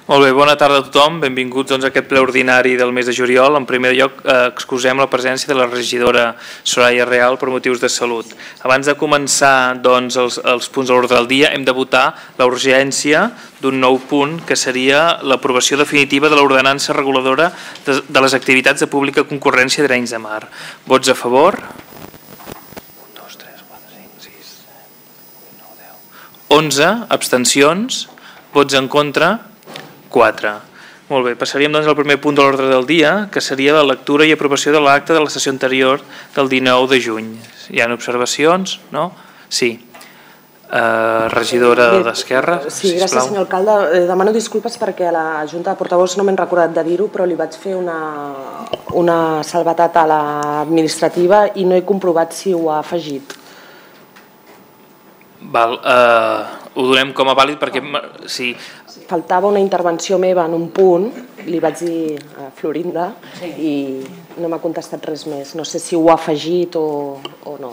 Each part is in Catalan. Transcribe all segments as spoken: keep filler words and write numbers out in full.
Molt bé, bona tarda a tothom. Benvinguts doncs, a aquest ple ordinari del mes de juliol. En primer lloc, eh, excusem la presència de la regidora Soraya Real per motius de salut. Abans de començar doncs, els, els punts de l'ordre del dia, hem de votar la urgència d'un nou punt, que seria l'aprovació definitiva de l'ordenança reguladora de, de les activitats de pública concurrència d'Arenys de Mar. Vots a favor? onze. Abstencions? Vots en contra? quatre. Molt bé, passaríem doncs al primer punt de l'ordre del dia, que seria la lectura i aprovació de l'acte de la sessió anterior del dinou de juny. Hi ha observacions? No? Sí. Uh, regidora d'Esquerra, sí, gràcies, sisplau. Senyor alcalde. Eh, demano disculpes perquè a la Junta de Portavols no m'he recordat de dir-ho, però li vaig fer una, una salvetat a l'administrativa i no he comprovat si ho ha afegit. Val, uh, ho donem com a vàlid perquè... Sí. Faltava una intervenció meva en un punt, li vaig dir a Florinda i no m'ha contestat res més. No sé si ho ha afegit o, o no.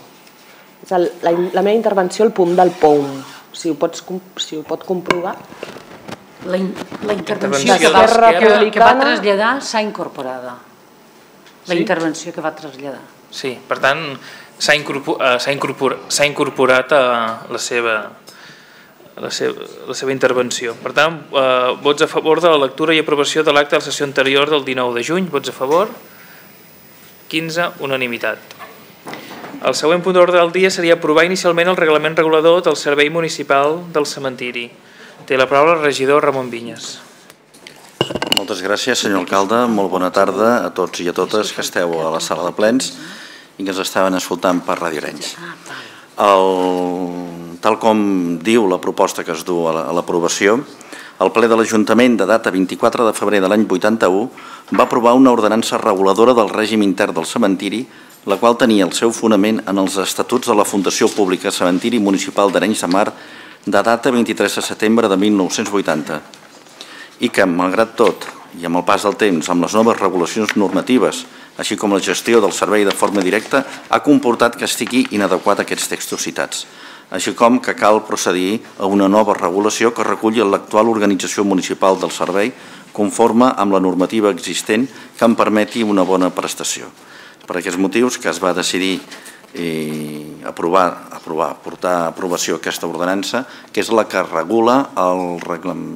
És el, la, la meva intervenció al punt del P O U M. Si ho, pots, si ho pot comprovar. La, in, la intervenció que va, que, que va traslladar s'ha incorporada. La sí? intervenció que va traslladar. Sí, per tant, s'ha incorporat, incorporat, incorporat a la seva... La seva, la seva intervenció. Per tant, eh, vots a favor de la lectura i aprovació de l'acte de la sessió anterior del dinou de juny. Vots a favor? quinze, unanimitat. El següent punt d'ordre del dia seria aprovar inicialment el reglament regulador del Servei Municipal del Cementiri. Té la paraula el regidor Ramon Vinyes. Moltes gràcies, senyor alcalde. Molt bona tarda a tots i a totes que esteu a la sala de plens i que ens estaven escoltant per Ràdio Arenys. El... Tal com diu la proposta que es du a l'aprovació, el ple de l'Ajuntament de data vint-i-quatre de febrer de l'any vuitanta-u va aprovar una ordenança reguladora del règim intern del cementiri, la qual tenia el seu fonament en els estatuts de la Fundació Pública Cementiri Municipal d'Arenys de Mar de data vint-i-tres de setembre de mil nou-cents vuitanta i que, malgrat tot, i amb el pas del temps, amb les noves regulacions normatives, així com la gestió del servei de forma directa, ha comportat que estigui inadequat aquests textos citats, així com que cal procedir a una nova regulació que reculli l'actual organització municipal del servei conforme amb la normativa existent que en permeti una bona prestació. Per aquests motius que es va decidir eh, aprovar, aprovar, portar a aprovació aquesta ordenança, que és la que regula el,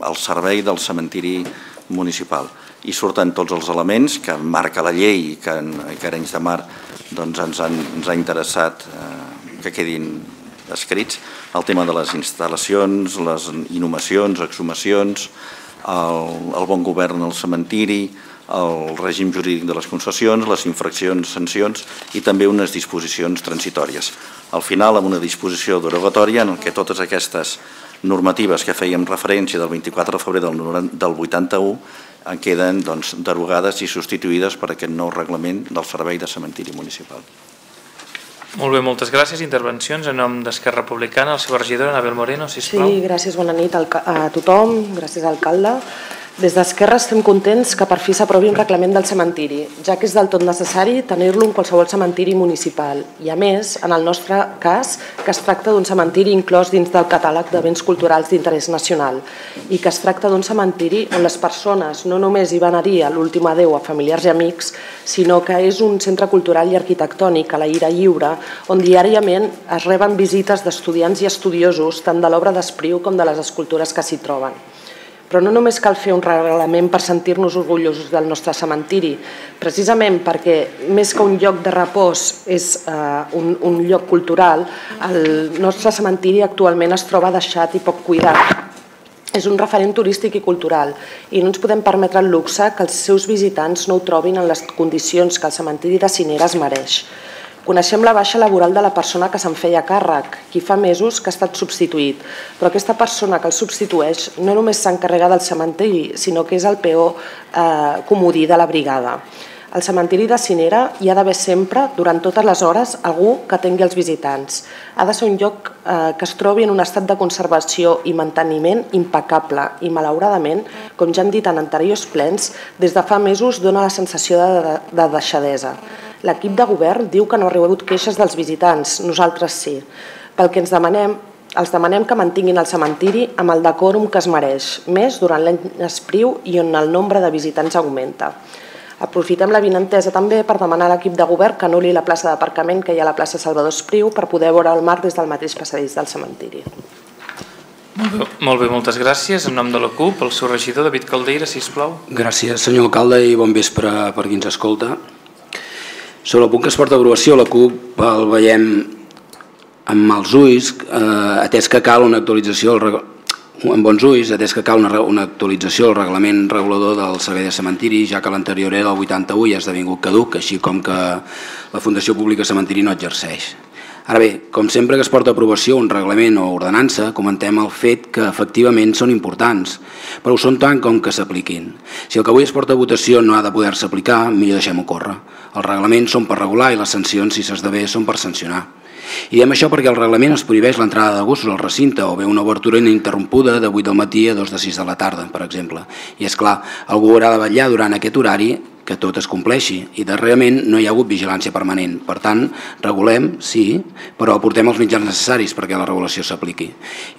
el servei del cementiri municipal. I surten tots els elements que marca la llei i que, que Arenys de Mar doncs, ens, han, ens ha interessat eh, que quedin escrits, el tema de les instal·lacions, les inhumacions, exhumacions, el, el bon govern al cementiri, el règim jurídic de les concessions, les infraccions, sancions i també unes disposicions transitòries. Al final, amb una disposició derogatòria en què totes aquestes normatives que fèiem referència del vint-i-quatre de febrer del vuitanta-u queden doncs, derogades i substituïdes per aquest nou reglament del Servei de Cementiri Municipal. Molt bé, moltes gràcies. Intervencions en nom d'Esquerra Republicana. La seva regidora, Anabel Moreno, sisplau. Sí, gràcies, bona nit a tothom. Gràcies, alcalde. Des d'Esquerra estem contents que per fi s'aprovi un reglament del cementiri, ja que és del tot necessari tenir-lo en qualsevol cementiri municipal. I a més, en el nostre cas, que es tracta d'un cementiri inclòs dins del catàleg de béns culturals d'interès nacional i que es tracta d'un cementiri on les persones no només hi van a dir l'últim adéu a familiars i amics, sinó que és un centre cultural i arquitectònic a l'aire lliure on diàriament es reben visites d'estudiants i estudiosos tant de l'obra d'Espriu com de les escultures que s'hi troben. Però no només cal fer un reglament per sentir-nos orgullosos del nostre cementiri, precisament perquè més que un lloc de repòs és un, un lloc cultural, el nostre cementiri actualment es troba deixat i poc cuidat. És un referent turístic i cultural i no ens podem permetre el luxe que els seus visitants no ho trobin en les condicions que el cementiri de Cinera es mereix. Coneixem la baixa laboral de la persona que se'n feia càrrec, qui fa mesos que ha estat substituït, però aquesta persona que el substitueix no només s'encarrega del cementiri, sinó que és el peó eh, comodí de la brigada. Al cementiri de Cinera hi ha d'haver sempre, durant totes les hores, algú que atengui els visitants. Ha de ser un lloc eh, que es trobi en un estat de conservació i manteniment impecable i, malauradament, com ja hem dit en anteriors plens, des de fa mesos dona la sensació de, de, de deixadesa. L'equip de govern diu que no ha rebut queixes dels visitants, nosaltres sí. Pel que ens demanem Els demanem que mantinguin el cementiri amb el decòrum que es mereix, més durant l'any espriu i on el nombre de visitants augmenta. Aprofitem l'avinentesa també per demanar a l'equip de govern que anul·li la plaça d'aparcament que hi ha a la plaça Salvador Espriu per poder veure el mar des del mateix passadís del cementiri. Molt bé, moltes gràcies. En nom de la CUP, el seu regidor, David Caldeira, sisplau. Gràcies, senyor alcalde, i bon vespre per qui ens escolta. Sobre el punt que es porta a aprovació, la CUP el veiem amb mals ulls, atès que cal una actualització amb bons ulls, atès que cal una, una actualització al reglament regulador del servei de cementiri, ja que l'anterior era del vuitanta-u i ha esdevingut caduc, així com que la Fundació Pública Cementiri no exerceix. Ara bé, com sempre que es porta a aprovació un reglament o ordenança, comentem el fet que efectivament són importants, però ho són tant com que s'apliquin. Si el que avui es porta a votació no ha de poder-se aplicar, millor deixem-ho córrer. Els reglaments són per regular i les sancions, si s'esdevé, són per sancionar. I diem això perquè el reglament es prohibeix l'entrada de gossos al recinte o bé una obertura ininterrompuda de vuit del matí a dos de sis de la tarda, per exemple. I és clar, algú haurà de vetllar durant aquest horari que tot es compleixi i darrerament no hi ha hagut vigilància permanent. Per tant, regulem, sí, però aportem els mitjans necessaris perquè la regulació s'apliqui.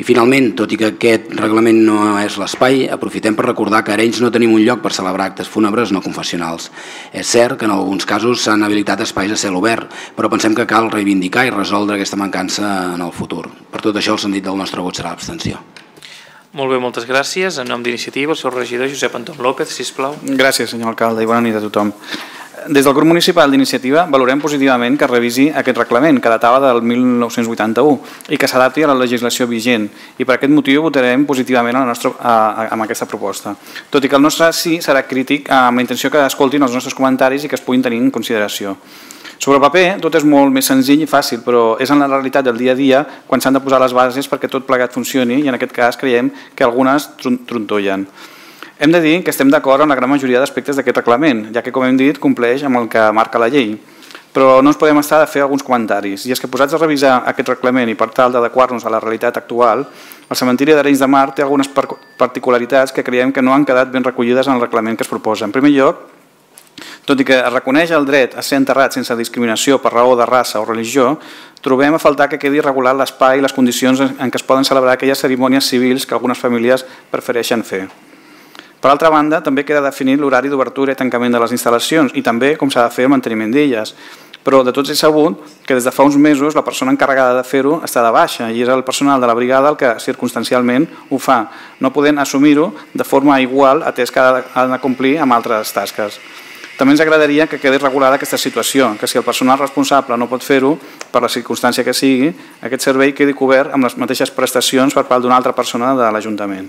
I finalment, tot i que aquest reglament no és l'espai, aprofitem per recordar que a Arenys no tenim un lloc per celebrar actes fúnebres no confessionals. És cert que en alguns casos s'han habilitat espais a cel obert, però pensem que cal reivindicar i resoldre aquesta mancança en el futur. Per tot això, el sentit del nostre vot serà l'abstenció. Molt bé, moltes gràcies. En nom d'Iniciativa, el seu regidor, Josep Anton López, sisplau. Gràcies, senyor alcalde, i bona nit a tothom. Des del grup municipal d'Iniciativa valorem positivament que es revisi aquest reglament que datava del mil nou-cents vuitanta-u i que s'adapti a la legislació vigent, i per aquest motiu votarem positivament a la nostra, a, a, amb aquesta proposta. Tot i que el nostre sí serà crític amb la intenció que escoltin els nostres comentaris i que es puguin tenir en consideració. Sobre el paper tot és molt més senzill i fàcil, però és en la realitat del dia a dia quan s'han de posar les bases perquè tot plegat funcioni i en aquest cas creiem que algunes trontollen. Hem de dir que estem d'acord amb la gran majoria d'aspectes d'aquest reglament, ja que, com hem dit, compleix amb el que marca la llei. Però no ens podem estar de fer alguns comentaris, i és que posats a revisar aquest reglament i per tal d'adequar-nos a la realitat actual, el cementiri d'Arenys de Mar té algunes particularitats que creiem que no han quedat ben recollides en el reglament que es proposa. En primer lloc, tot i que es reconeix el dret a ser enterrat sense discriminació per raó de raça o religió, trobem a faltar que quedi regulat l'espai i les condicions en què es poden celebrar aquelles cerimònies civils que algunes famílies prefereixen fer. Per altra banda, també queda definit l'horari d'obertura i tancament de les instal·lacions i també com s'ha de fer el manteniment d'elles. Però de tots és sabut que des de fa uns mesos la persona encarregada de fer-ho està de baixa i és el personal de la brigada el que circumstancialment ho fa, no podent assumir-ho de forma igual atès que ha de complir amb altres tasques. També ens agradaria que quedi regulada aquesta situació, que si el personal responsable no pot fer-ho, per la circumstància que sigui, aquest servei quedi cobert amb les mateixes prestacions per part d'una altra persona de l'Ajuntament.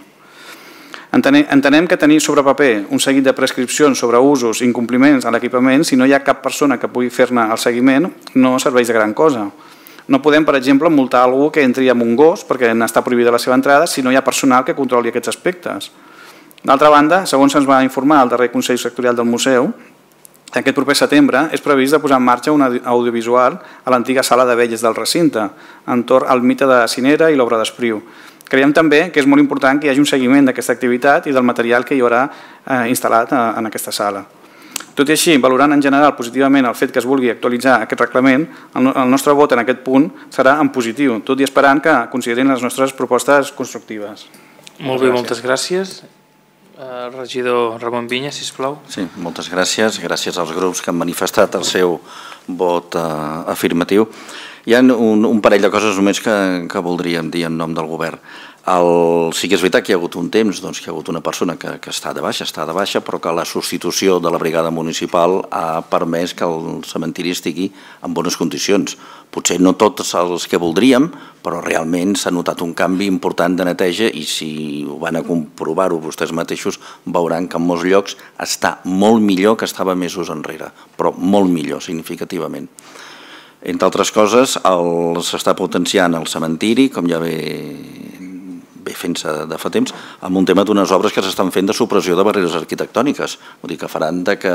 Entenem que tenir sobre paper un seguit de prescripcions sobre usos i incompliments a l'equipament, si no hi ha cap persona que pugui fer-ne el seguiment, no serveix de gran cosa. No podem, per exemple, multar algú que entri amb un gos perquè n'està prohibida la seva entrada si no hi ha personal que controli aquests aspectes. D'altra banda, segons se'ns va informar al darrer Consell Sectorial del Museu, aquest proper setembre és previst de posar en marxa un audiovisual a l'antiga sala de velles del recinte, entorn al mite de Cinera i l'obra d'Espriu. Creiem també que és molt important que hi hagi un seguiment d'aquesta activitat i del material que hi haurà instal·lat en aquesta sala. Tot i així, valorant en general positivament el fet que es vulgui actualitzar aquest reglament, el nostre vot en aquest punt serà en positiu, tot i esperant que considerin les nostres propostes constructives. Molt bé, moltes gràcies. El regidor Ramon Vinya, sisplau. Sí, moltes gràcies. Gràcies als grups que han manifestat el seu vot afirmatiu. Hi ha un parell de coses només que voldríem dir en nom del govern. Sí que és veritat que hi ha hagut un temps que hi ha hagut una persona que està de baixa, està de baixa, però que la substitució de la brigada municipal ha permès que el cementiri estigui en bones condicions. Potser no tots els que voldríem, però realment s'ha notat un canvi important de neteja i si ho van a comprovar-ho vostès mateixos veuran que en molts llocs està molt millor que estava mesos enrere, però molt millor, significativament. Entre altres coses, s'està potenciant el cementiri, com ja ve fent-se de fa temps, amb un tema d'unes obres que s'estan fent de supressió de barreres arquitectòniques, vull dir que faran que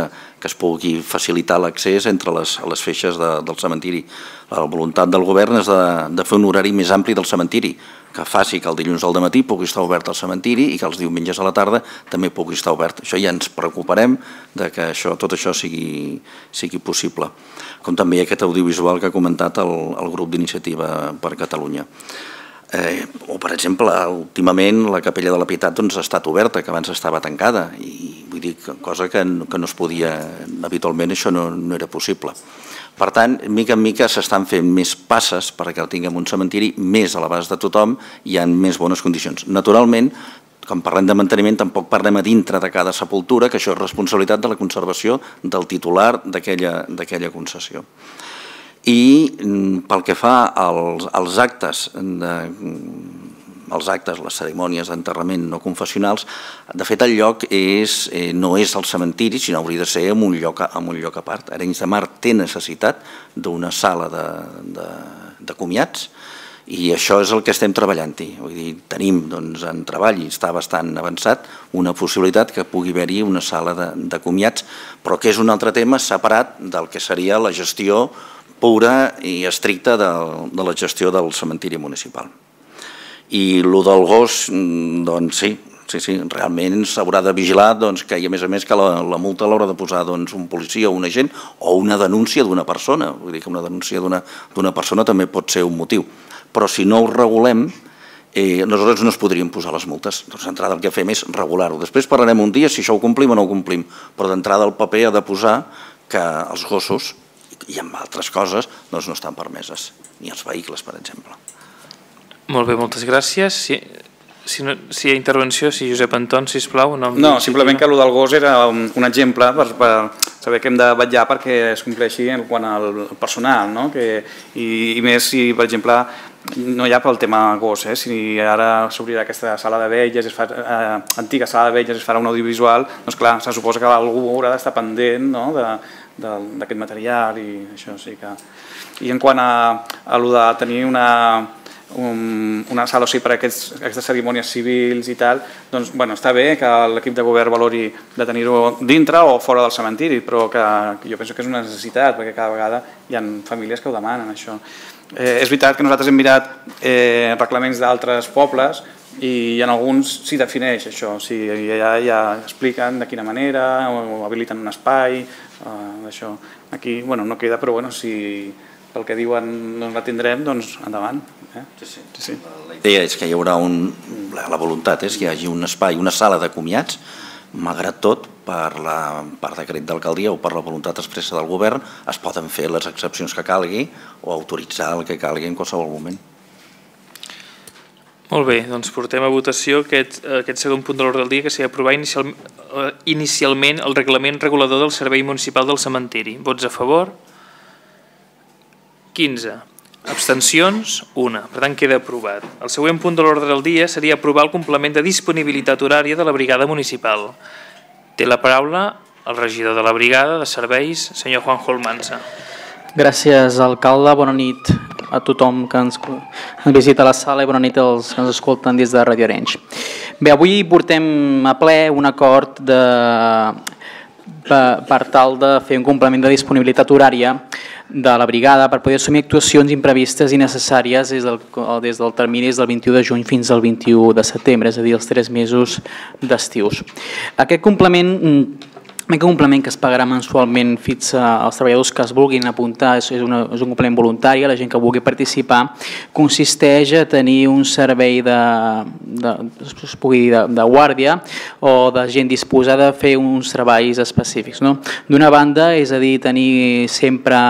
es pugui facilitar l'accés entre les feixes del cementiri. La voluntat del govern és de fer un horari més ampli del cementiri, que faci que el dilluns al dematí pugui estar obert el cementiri i que els diumenges a la tarda també pugui estar obert. Això ja ens preocuparem que tot això sigui possible, com també aquest audiovisual que ha comentat el grup d'Iniciativa per Catalunya. O, per exemple, últimament la Capella de la Pietat ha estat oberta, que abans estava tancada, i vull dir, cosa que no es podia, habitualment això no era possible. Per tant, mica en mica s'estan fent més passes perquè tinguem un cementiri més a l'abast de tothom i en més bones condicions. Naturalment, quan parlem de manteniment, tampoc parlem a dintre de cada sepultura, que això és responsabilitat de la conservació del titular d'aquella concessió. I pel que fa als actes, els actes, les cerimònies d'enterrament no confessionals, de fet el lloc no és el cementiri, sinó hauria de ser en un lloc a part. Arenys de Mar té necessitat d'una sala de comiats i això és el que estem treballant-hi. Tenim en treball, i està bastant avançat, una possibilitat que pugui haver-hi una sala de comiats, però que és un altre tema separat del que seria la gestió pura i estricta de la gestió del cementiri municipal. I el del gos, doncs sí, sí, realment s'haurà de vigilar que, a més a més, que la multa l'haurà de posar un policia o un agent o una denúncia d'una persona. Vull dir que una denúncia d'una persona també pot ser un motiu. Però si no ho regulem, nosaltres no es podríem posar les multes. Doncs d'entrada el que fem és regular-ho. Després parlarem un dia si això ho complim o no ho complim, però d'entrada el paper ha de posar que els gossos i amb altres coses no estan permeses, ni els vehicles, per exemple. Molt bé, moltes gràcies. Si hi ha intervenció, si Josep Anton, sisplau. No, simplement que el del gos era un exemple per saber que hem de vetllar perquè es compleixi en quant al personal, i més si, per exemple, no hi ha pel tema gos, si ara s'obrirà aquesta sala de vetlles, antiga sala de vetlles, es farà un audiovisual, doncs clar, se suposa que algú haurà d'estar pendent d'aquest material i això sí que... I en quant a allò de tenir una una sala per a aquestes cerimònies civils i tal, doncs està bé que l'equip de govern valori de tenir-ho dintre o fora del cementiri, però jo penso que és una necessitat perquè cada vegada hi ha famílies que ho demanen, això. És veritat que nosaltres hem mirat reglaments d'altres pobles i en alguns s'hi defineix això, ja expliquen de quina manera o habiliten un espai, això. Aquí no queda, però si pel que diuen no la tindrem, doncs endavant. La idea és que hi haurà un... La voluntat és que hi hagi un espai, una sala de comiats, malgrat tot, per decret d'alcaldia o per la voluntat expressa del govern, es poden fer les excepcions que calgui o autoritzar el que calgui en qualsevol moment. Molt bé, doncs portem a votació aquest segon punt de l'ordre del dia, que sigui aprovar inicialment el reglament regulador del Servei Municipal del Cementiri. Vots a favor? quinze. Abstencions? una. Per tant, queda aprovat. El següent punt de l'ordre del dia seria aprovar el complement de disponibilitat horària de la brigada municipal. Té la paraula el regidor de la brigada de serveis, senyor Juanjo Almansa. Gràcies, alcalde. Bona nit a tothom que ens visita a la sala i bona nit als que ens escolten des de Radio Arenys. Bé, avui portem a ple un acord per tal de fer un complement de disponibilitat horària de la brigada per poder assumir actuacions imprevistes i necessàries des del termini del vint-i-u de juny fins al vint-i-u de setembre, és a dir, els tres mesos d'estius. Aquest complement Aquest complement que es pagarà mensualment fins als treballadors que es vulguin apuntar, és un complement voluntari, la gent que vulgui participar, consisteix a tenir un servei de guàrdia o de gent disposada a fer uns treballs específics. D'una banda, és a dir, tenir sempre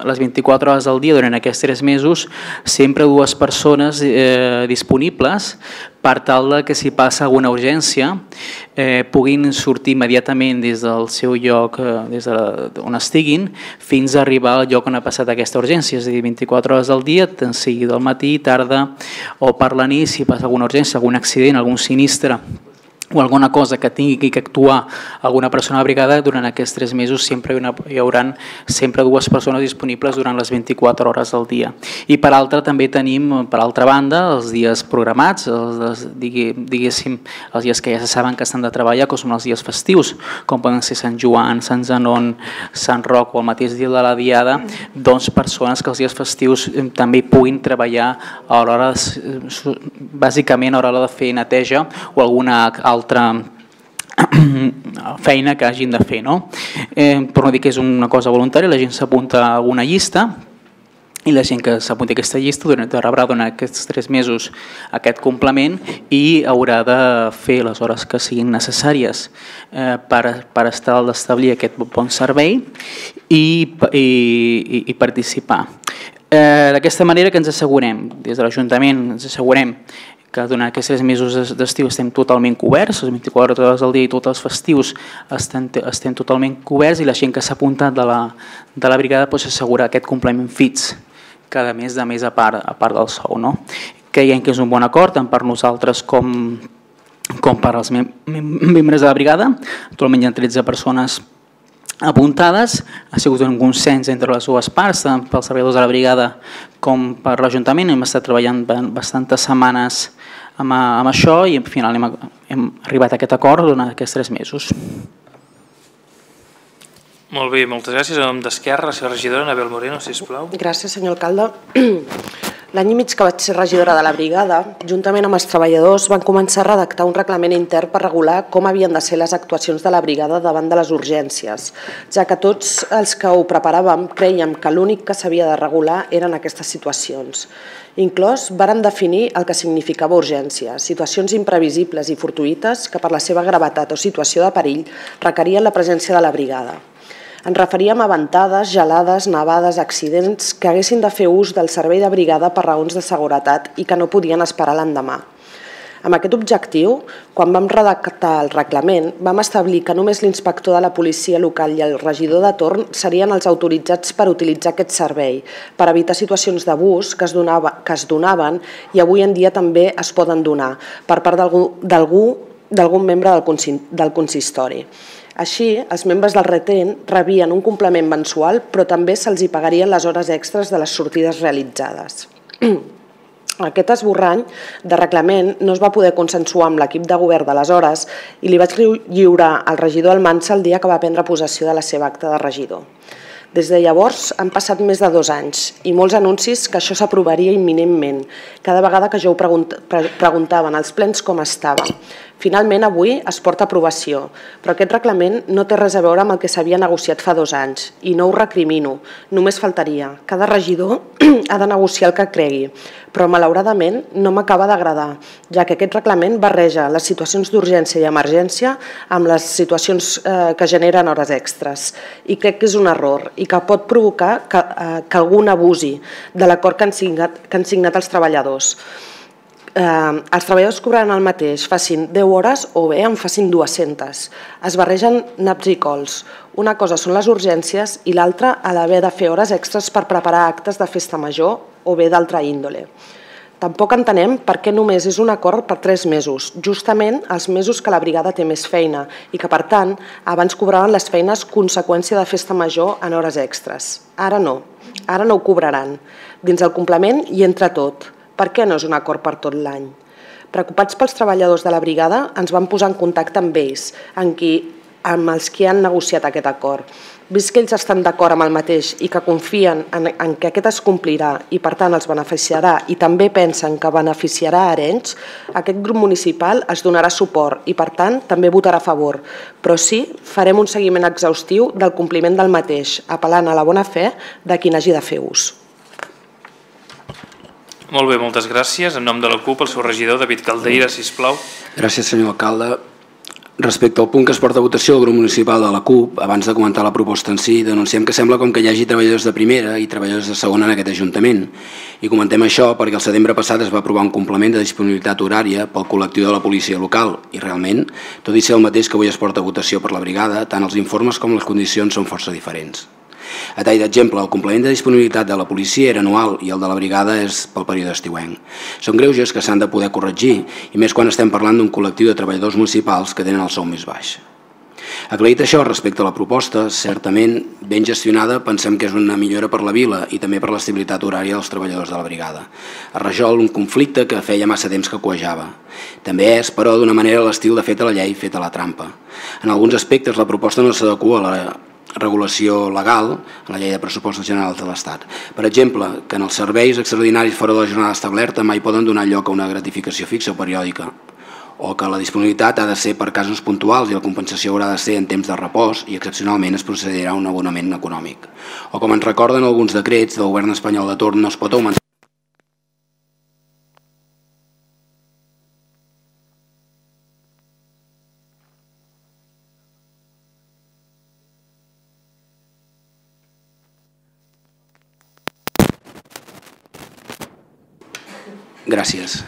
les vint-i-quatre hores del dia durant aquests tres mesos, sempre dues persones disponibles per tal que si passa alguna urgència puguin sortir immediatament des del seu lloc, des d'on estiguin, fins a arribar al lloc on ha passat aquesta urgència, és a dir, vint-i-quatre hores del dia, tant sigui del matí, tarda o per la nit, si passa alguna urgència, algun accident, algun sinistre o alguna cosa que tingui que actuar alguna persona a la brigada, durant aquests tres mesos sempre hi haurà sempre dues persones disponibles durant les vint-i-quatre hores del dia. I per altra també tenim, per altra banda, els dies programats, diguéssim, els dies que ja se saben que estan de treballar, que són els dies festius, com poden ser Sant Joan, Sant Zenon, Sant Roc o el mateix dia de la Diada, doncs persones que els dies festius també puguin treballar a l'hora, bàsicament a l'hora de fer neteja o alguna altra feina que hagin de fer. Per no dir que és una cosa voluntària, la gent s'apunta a alguna llista i la gent que s'apunti a aquesta llista rebrà durant aquests tres mesos aquest complement i haurà de fer les hores que siguin necessàries eh, per, per estar d'establir aquest bon servei i, i, i participar. Eh, D'aquesta manera que ens assegurem, des de l'Ajuntament ens assegurem que durant aquests tres mesos d'estiu estem totalment coberts, les vint-i-quatre hores al dia i tots els festius estem, estem totalment coberts i la gent que s'ha apuntat de la, de la brigada doncs, s'assegura aquest complement fix cada mes de més a part, a part del sou. No? Creiem que és un bon acord tant per nosaltres com, com per als mem membres de la brigada. Actualment hi ha tretze persones apuntades, ha sigut un consens entre les dues parts, tant pels treballadors de la brigada com per l'Ajuntament. Hem estat treballant bastantes setmanes amb, amb això i al final hem, hem arribat a aquest acord durant aquests tres mesos. Molt bé, moltes gràcies. En nom d'Esquerra, la seva regidora, Anabel Moreno, sisplau. Gràcies, senyor alcalde. L'any i mig que vaig ser regidora de la brigada, juntament amb els treballadors, van començar a redactar un reglament intern per regular com havien de ser les actuacions de la brigada davant de les urgències, ja que tots els que ho preparàvem creiem que l'únic que s'havia de regular eren aquestes situacions. Inclòs, vàrem definir el que significava urgència, situacions imprevisibles i fortuïtes que per la seva gravetat o situació de perill requerien la presència de la brigada. Ens referíem a ventades, gelades, nevades, accidents que haguessin de fer ús del servei de brigada per raons de seguretat i que no podien esperar l'endemà. Amb aquest objectiu, quan vam redactar el reglament, vam establir que només l'inspector de la policia local i el regidor de torn serien els autoritzats per utilitzar aquest servei, per evitar situacions d'abús que es donava, que es donaven i avui en dia també es poden donar per part d'algun membre del consistori. Així, els membres del retén rebien un complement mensual, però també se'ls hi pagarien les hores extres de les sortides realitzades. Aquest esborrany de reglament no es va poder consensuar amb l'equip de govern d'aleshores i li vaig lliurar al regidor Almansa el dia que va prendre possessió de la seva acta de regidor. Des de llavors han passat més de dos anys i molts anuncis que això s'aprovaria imminentment, cada vegada que jo ho preguntava en els plens com estava. Finalment, avui es porta a aprovació, però aquest reglament no té res a veure amb el que s'havia negociat fa dos anys i no ho recrimino, només faltaria. Cada regidor ha de negociar el que cregui, però malauradament no m'acaba d'agradar, ja que aquest reglament barreja les situacions d'urgència i emergència amb les situacions que generen hores extres i crec que és un error i que pot provocar que algú abusi de l'acord que han signat els treballadors. Els treballadors cobraran el mateix, facin deu hores o bé en facin dues-centes. Es barregen naps i cols. Una cosa són les urgències i l'altra a l'haver de fer hores extres per preparar actes de festa major o bé d'altra índole. Tampoc entenem per què només és un acord per tres mesos, justament els mesos que la brigada té més feina i que, per tant, abans cobraven les feines conseqüència de festa major en hores extres. Ara no, ara no ho cobraran. Dins el complement hi entra tot. Per què no és un acord per tot l'any? Preocupats pels treballadors de la brigada, ens vam posar en contacte amb ells, amb els que han negociat aquest acord. Vist que ells estan d'acord amb el mateix i que confien en que aquest es complirà i per tant els beneficiarà i també pensen que beneficiarà a Arenys, aquest grup municipal es donarà suport i per tant també votarà a favor. Però sí, farem un seguiment exhaustiu del compliment del mateix, apel·lant a la bona fe de qui n'hagi de fer ús. Molt bé, moltes gràcies. En nom de la CUP, el seu regidor, David Caldeira, sisplau. Gràcies, senyor alcalde. Respecte al punt que es porta a votació del grup municipal de la CUP, abans de comentar la proposta en si, denunciem que sembla com que hi hagi treballadors de primera i treballadors de segona en aquest Ajuntament. I comentem això perquè el setembre passat es va aprovar un complement de disponibilitat horària pel col·lectiu de la policia local i realment, tot i ser el mateix que avui es porta a votació per la brigada, tant els informes com les condicions són força diferents. A tall d'exemple, el complement de disponibilitat de la policia era anual i el de la brigada és pel període estiuenc. Són greuges que s'han de poder corregir, i més quan estem parlant d'un col·lectiu de treballadors municipals que tenen el sou més baix. Aclarit això, respecte a la proposta, certament ben gestionada, pensem que és una millora per la vila i també per l'estabilitat horària dels treballadors de la brigada. Es resol un conflicte que feia massa temps que coejava. També és, però, d'una manera l'estil de feta la llei, feta la trampa. En alguns aspectes la proposta no s'adequa a la regulació legal a la llei de pressupostos generals de l'Estat. Per exemple, que en els serveis extraordinaris fora de la jornada establerta mai poden donar lloc a una gratificació fixa o periòdica, o que la disponibilitat ha de ser per casos puntuals i la compensació haurà de ser en temps de repòs i excepcionalment es procedirà a un abonament econòmic. O com ens recorden alguns decrets del govern espanyol de torn, no es pot augmentar Gràcies.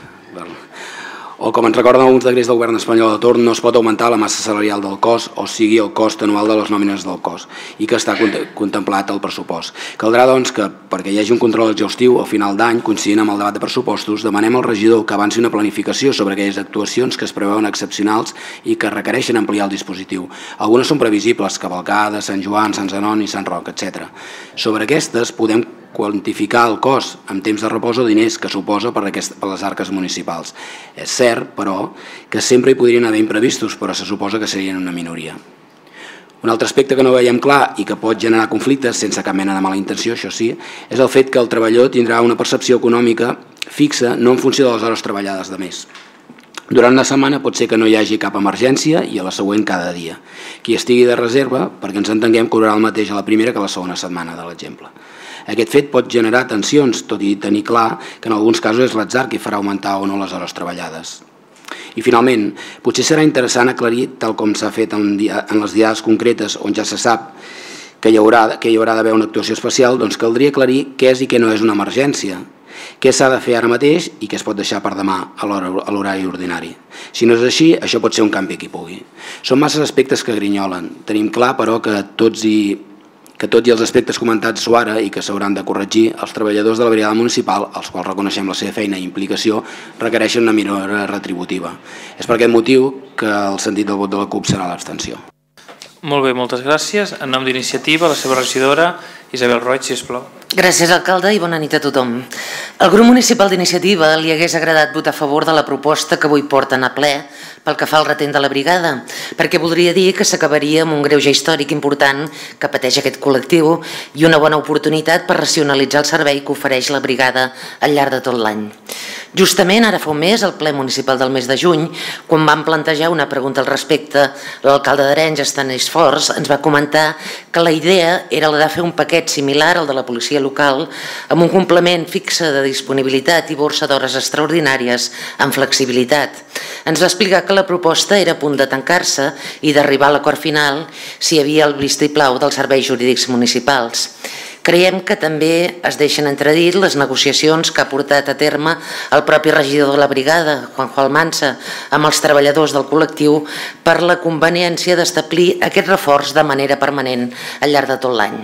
O com ens recorden alguns decrets del govern espanyol de torn, no es pot augmentar la massa salarial del cos, o sigui el cost anual de les nòmines del cos, i que està contemplat al pressupost. Caldrà, doncs, que perquè hi hagi un control exhaustiu al final d'any, coincidint amb el debat de pressupostos, demanem al regidor que avanci una planificació sobre aquelles actuacions que es preveuen excepcionals i que requereixen ampliar el dispositiu. Algunes són previsibles, Cavalcada, Sant Joan, Sant Zenoni, Sant Roc, etcètera. Sobre aquestes podem quantificar el cost en temps de repòs o diners que suposa per a les arques municipals. És cert, però, que sempre hi podrien haver imprevistos, però se suposa que serien una minoria. Un altre aspecte que no veiem clar i que pot generar conflictes sense cap mena de mala intenció, això sí, és el fet que el treballador tindrà una percepció econòmica fixa no en funció de les hores treballades de més. Durant la setmana pot ser que no hi hagi cap emergència i a la següent cada dia. Qui estigui de reserva, perquè ens entenguem, cobrarà el mateix a la primera que a la segona setmana, de l'exemple. Aquest fet pot generar tensions, tot i tenir clar que en alguns casos és l'atzar qui farà augmentar o no les hores treballades. I finalment, potser serà interessant aclarir, tal com s'ha fet en les diades concretes on ja se sap que hi haurà d'haver una actuació especial, doncs caldria aclarir què és i què no és una emergència, què s'ha de fer ara mateix i què es pot deixar per demà a l'horari ordinari. Si no és així, això pot ser un canvi qui pugui. Són massa aspectes que grinyolen. Tenim clar, però, que tots i que tot i els aspectes comentats ara i que s'hauran de corregir, els treballadors de la brigada municipal, als quals reconeixem la seva feina i implicació, requereixen una millora retributiva. És per aquest motiu que el sentit del vot de la CUP serà l'abstenció. Molt bé, moltes gràcies. En nom d'Iniciativa, la seva regidora, Isabel Roig, sisplau. Gràcies, alcalde, i bona nit a tothom. Al grup municipal d'Iniciativa li hagués agradat votar a favor de la proposta que avui porten a ple pel que fa al retent de la brigada, perquè voldria dir que s'acabaria amb un greuge històric important que pateix aquest col·lectiu i una bona oportunitat per racionalitzar el servei que ofereix la brigada al llarg de tot l'any. Justament ara fa un mes, al ple municipal del mes de juny, quan vam plantejar una pregunta al respecte, l'alcalde d'Arenys, Estanis Forts, ens va comentar que la idea era la de fer un paquet similar al de la policia local amb un complement fixe de disponibilitat i borsa d'hores extraordinàries amb flexibilitat. Ens va explicar que la proposta era a punt de tancar-se i d'arribar a l'acord final si hi havia el vistiplau dels serveis jurídics municipals. Creiem que també es deixen entredir les negociacions que ha portat a terme el propi regidor de la brigada, Juanjo Almansa, amb els treballadors del col·lectiu per la conveniència d'establir aquest reforç de manera permanent al llarg de tot l'any.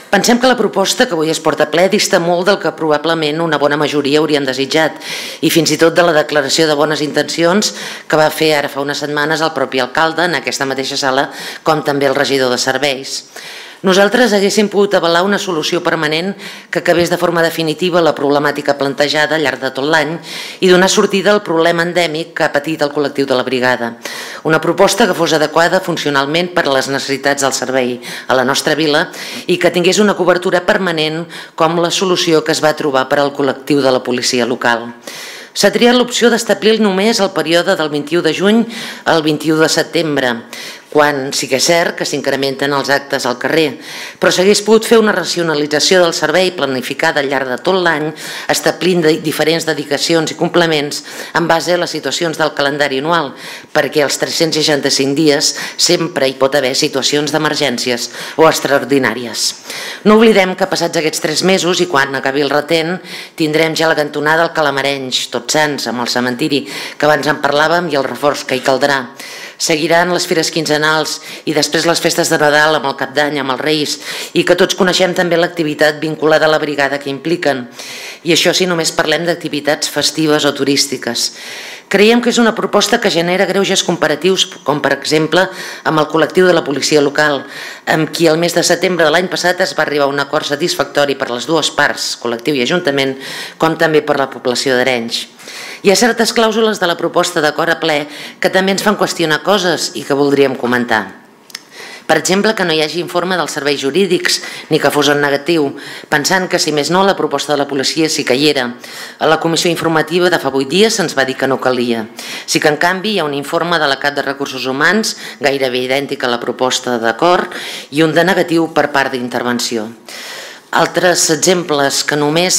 Pensem que la proposta que avui es porta a ple dista molt del que probablement una bona majoria hauríem desitjat i fins i tot de la declaració de bones intencions que va fer ara fa unes setmanes el propi alcalde en aquesta mateixa sala, com també el regidor de serveis. Nosaltres haguéssim pogut avalar una solució permanent que acabés de forma definitiva la problemàtica plantejada al llarg de tot l'any i donar sortida al problema endèmic que ha patit el col·lectiu de la brigada. Una proposta que fos adequada funcionalment per a les necessitats del servei a la nostra vila i que tingués una cobertura permanent com la solució que es va trobar per al col·lectiu de la policia local. S'ha triat l'opció d'establir només el període del vint-i-u de juny al vint-i-u de setembre, quan sí que és cert que s'incrementen els actes al carrer, però s'hagués pogut fer una racionalització del servei planificada al llarg de tot l'any, establint diferents dedicacions i complements en base a les situacions del calendari anual, perquè als tres-cents seixanta-cinc dies sempre hi pot haver situacions d'emergències o extraordinàries. No oblidem que passats aquests tres mesos i quan acabi el retent tindrem ja la cantonada al Calamarenys, Tots Sants, amb el cementiri que abans en parlàvem i el reforç que hi caldrà. Seguiran les fires quinzenals i després les festes de Nadal amb el Cap d'Any, amb els Reis, i que tots coneixem també l'activitat vinculada a la brigada que impliquen. I això si només parlem d'activitats festives o turístiques. Creiem que és una proposta que genera greuges comparatius, com per exemple amb el col·lectiu de la policia local, amb qui el mes de setembre de l'any passat es va arribar a un acord satisfactori per les dues parts, col·lectiu i ajuntament, com també per la població d'Arenys. Hi ha certes clàusules de la proposta d'acord a ple que també ens fan qüestionar coses i que voldríem comentar. Per exemple, que no hi hagi informe dels serveis jurídics, ni que fos en negatiu, pensant que, si més no, la proposta de la policia sí que hi era. A la comissió informativa de fa vuit dies se'ns va dir que no calia. Sí que, en canvi, hi ha un informe de la Cap de Recursos Humans, gairebé idèntic a la proposta d'acord, i un de negatiu per part d'intervenció. Altres exemples que només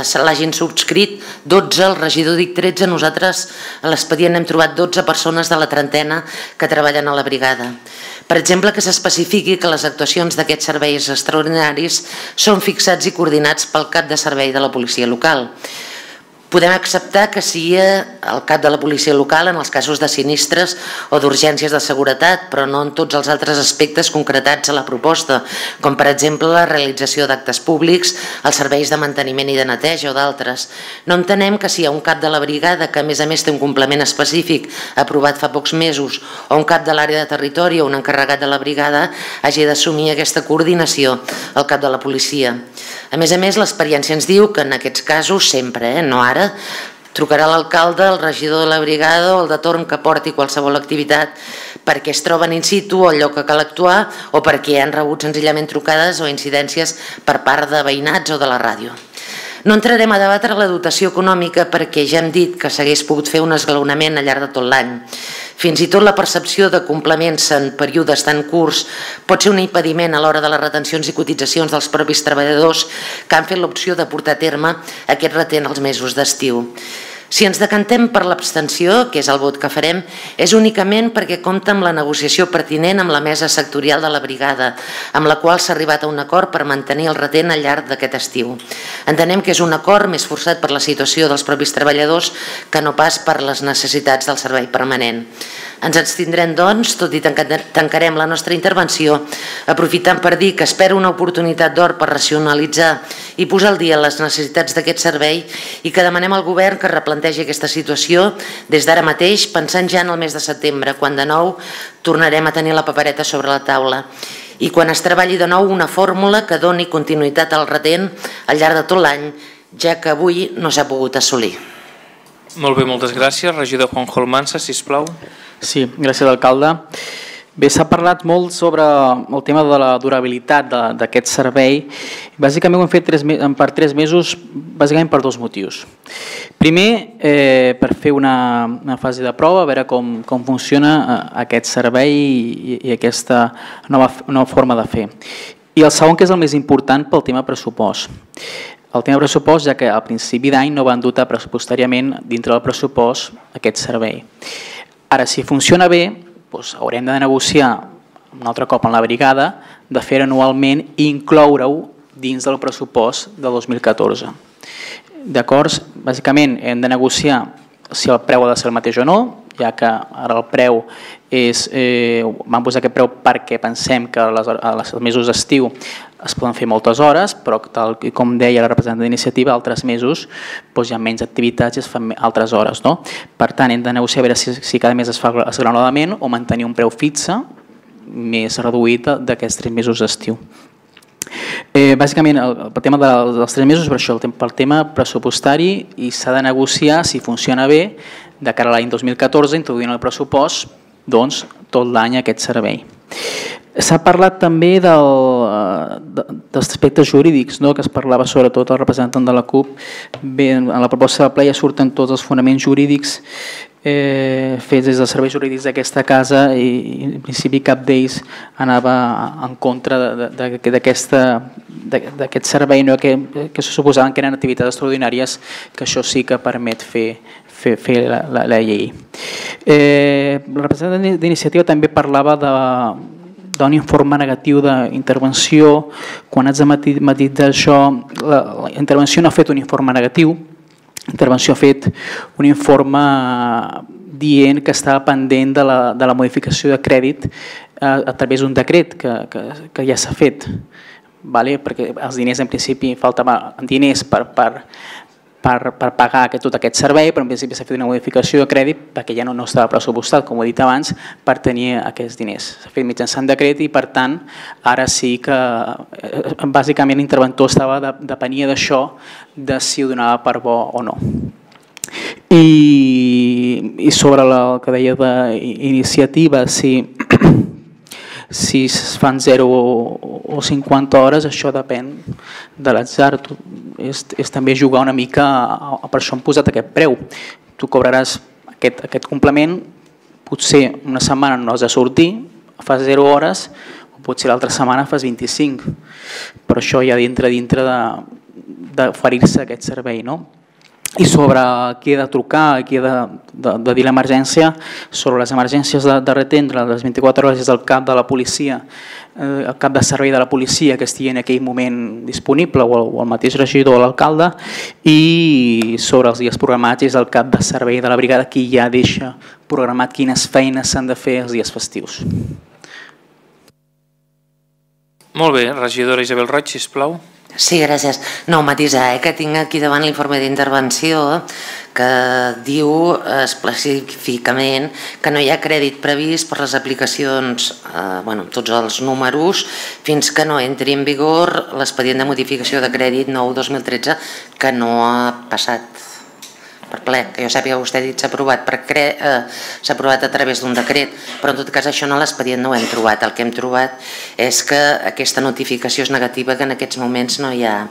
se l'hagin subscrit dotze, el regidor dic tretze, nosaltres a l'expedient hem trobat dotze persones de la trentena que treballen a la brigada. Per exemple, que s'especifiqui que les actuacions d'aquests serveis extraordinaris són fixats i coordinats pel cap de servei de la policia local. Podem acceptar que sigui el cap de la policia local en els casos de sinistres o d'urgències de seguretat, però no en tots els altres aspectes concretats a la proposta, com per exemple la realització d'actes públics, els serveis de manteniment i de neteja o d'altres. No entenem que si hi ha un cap de la brigada que a més a més té un complement específic aprovat fa pocs mesos o un cap de l'àrea de territori o un encarregat de la brigada hagi d'assumir aquesta coordinació al cap de la policia. A més a més, l'experiència ens diu que en aquests casos sempre, eh, no ara, trucarà l'alcalde, el regidor de la brigada o el de torn que porti qualsevol activitat perquè es troben in situ o al lloc que cal actuar o perquè han rebut senzillament trucades o incidències per part de veïnats o de la ràdio. No entrarem a debatre la dotació econòmica perquè ja hem dit que s'hagués pogut fer un esglaonament al llarg de tot l'any. Fins i tot la percepció de complements en períodes tan curts pot ser un impediment a l'hora de les retencions i cotitzacions dels propis treballadors que han fet l'opció de portar a terme aquest retent als mesos d'estiu. Si ens decantem per l'abstenció, que és el vot que farem, és únicament perquè compta amb la negociació pertinent amb la mesa sectorial de la brigada, amb la qual s'ha arribat a un acord per mantenir el retent al llarg d'aquest estiu. Entenem que és un acord més forçat per la situació dels propis treballadors que no pas per les necessitats del servei permanent. Ens abstindrem, doncs, tot i tancarem la nostra intervenció, aprofitant per dir que espero una oportunitat d'or per racionalitzar i posar al dia les necessitats d'aquest servei i que demanem al govern que replantegi aquesta situació des d'ara mateix, pensant ja en el mes de setembre, quan de nou tornarem a tenir la papereta sobre la taula i quan es treballi de nou una fórmula que doni continuïtat al retent al llarg de tot l'any, ja que avui no s'ha pogut assolir. Molt bé, moltes gràcies. Regidor Juanjo Almansa, sisplau. Sí, gràcies, alcalde. Bé, s'ha parlat molt sobre el tema de la durabilitat d'aquest servei. Bàsicament ho hem fet per tres mesos, bàsicament per dos motius. Primer, eh, per fer una, una fase de prova, a veure com, com funciona aquest servei i, i aquesta nova, nova forma de fer. I el segon, que és el més important, pel tema pressupost. El tema pressupost, ja que al principi d'any no van dotar pressupostàriament dintre del pressupost aquest servei. Ara, si funciona bé, doncs haurem de negociar un altre cop amb la brigada de fer anualment i incloure-ho dins del pressupost del dos mil catorze. D'acord? Bàsicament hem de negociar si el preu ha de ser el mateix o no, ja que ara el preu és, eh, vam posar aquest preu perquè pensem que als mesos d'estiu es poden fer moltes hores, però tal com deia la representant d'iniciativa, altres mesos doncs hi ha menys activitats i es fan altres hores. No? Per tant, hem de negociar a veure si, si cada mes es fa esglaonadament o mantenir un preu fixe més reduït d'aquests tres mesos d'estiu. Eh, bàsicament, el, el tema dels tres mesos, per això, pel tema pressupostari, i s'ha de negociar si funciona bé de cara a l'any dos mil catorze, introduint el pressupost doncs, tot l'any aquest servei. S'ha parlat també del, dels aspectes jurídics, no? Que es parlava sobretot el representant de la CUP. Bé, en la proposta de ple ja surten tots els fonaments jurídics eh, fets des dels serveis jurídics d'aquesta casa i en principi cap d'ells anava en contra d'aquest servei, no? que, que se suposaven que eren activitats extraordinàries, que això sí que permet fer, fer, fer la, la, la llei. Eh, el representant d'iniciativa també parlava de d'un informe negatiu d'intervenció. Quan haig de matitzar això, la, la intervenció no ha fet un informe negatiu, la intervenció ha fet un informe dient que estava pendent de la, de la modificació de crèdit a, a través d'un decret que, que, que ja s'ha fet, vale? Perquè els diners en principi faltaven diners per, per, per, per pagar aquest, tot aquest servei, però en principi s'ha fet una modificació de crèdit perquè ja no, no estava pressupostat, com he dit abans, per tenir aquests diners. S'ha fet mitjançant decret i per tant ara sí que bàsicament l'interventor estava de, depenia d'això, de si ho donava per bo o no. I, i sobre la, el que deia d'iniciativa, sí, Si es fan zero o cinquanta hores, això depèn de l'atzar. És, és també jugar una mica, a, per això hem posat aquest preu. Tu cobraràs aquest, aquest complement, potser una setmana no has de sortir, fas zero hores, o potser l'altra setmana fas vint-i-cinc. Però això ja dintre dintre d'oferir-se aquest servei, no? I sobre qui ha de trucar, qui ha de, de, de dir l'emergència, sobre les emergències de, de retendre les vint-i-quatre hores és el cap de la policia, eh, el cap de servei de la policia que estigui en aquell moment disponible, o el, o el mateix regidor o l'alcalde, i sobre els dies programats és el cap de servei de la brigada qui ja deixa programat quines feines s'han de fer els dies festius. Molt bé, regidora Isabel Roig, sisplau. Sí, gràcies. No, matisar, eh, que tinc aquí davant l'informe d'intervenció que diu específicament que no hi ha crèdit previst per les aplicacions, eh, bueno, tots els números, fins que no entri en vigor l'expedient de modificació de crèdit nou dos mil tretze, que no ha passat per ple, que jo sàpiga, vostè ha dit s'ha aprovat, eh, s'ha aprovat a través d'un decret, però en tot cas això no l'expedient no ho hem trobat. El que hem trobat és que aquesta notificació és negativa, que en aquests moments no hi ha.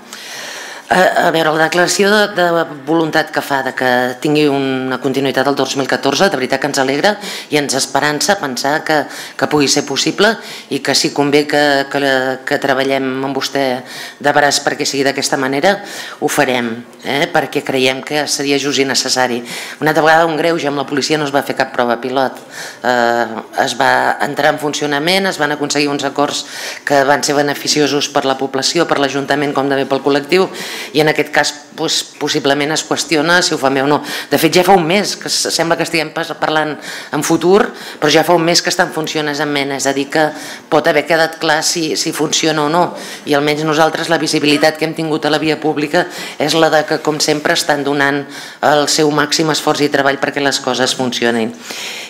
A veure, la declaració de voluntat que fa de que tingui una continuïtat del dos mil catorze, de veritat que ens alegra i ens esperança pensar que, que pugui ser possible i que si convé que, que, que treballem amb vostè de braç perquè sigui d'aquesta manera, ho farem, eh? Perquè creiem que seria just i necessari. Una altra vegada un greuge amb la policia no es va fer cap prova pilot, eh, es va entrar en funcionament, es van aconseguir uns acords que van ser beneficiosos per la població, per l'Ajuntament com també pel col·lectiu, i en aquest cas doncs, possiblement es qüestiona si ho fa bé o no. De fet ja fa un mes que sembla que estiguem parlant en futur, però ja fa un mes que està en funcionament, és a dir que pot haver quedat clar si, si funciona o no, i almenys nosaltres la visibilitat que hem tingut a la via pública és la de que com sempre estan donant el seu màxim esforç i treball perquè les coses funcionin.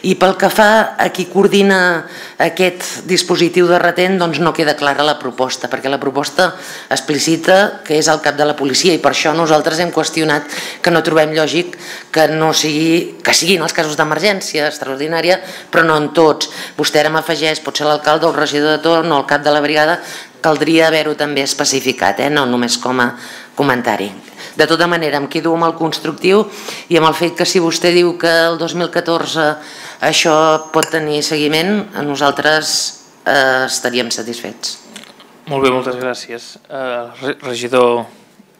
I pel que fa a qui coordina aquest dispositiu de retent, doncs no queda clara la proposta, perquè la proposta explicita que és el cap de la policia i per això nosaltres hem qüestionat que no trobem lògic que no sigui, que siguin els casos d'emergència extraordinària, però no en tots. Vostè ara m'afegeix, pot ser l'alcalde o el regidor de torn o el cap de la brigada, caldria haver-ho també especificat, eh? No només com a comentari. De tota manera, em quedo amb el constructiu i amb el fet que si vostè diu que el dos mil catorze això pot tenir seguiment, nosaltres eh, estaríem satisfets. Molt bé, moltes gràcies. Eh, regidor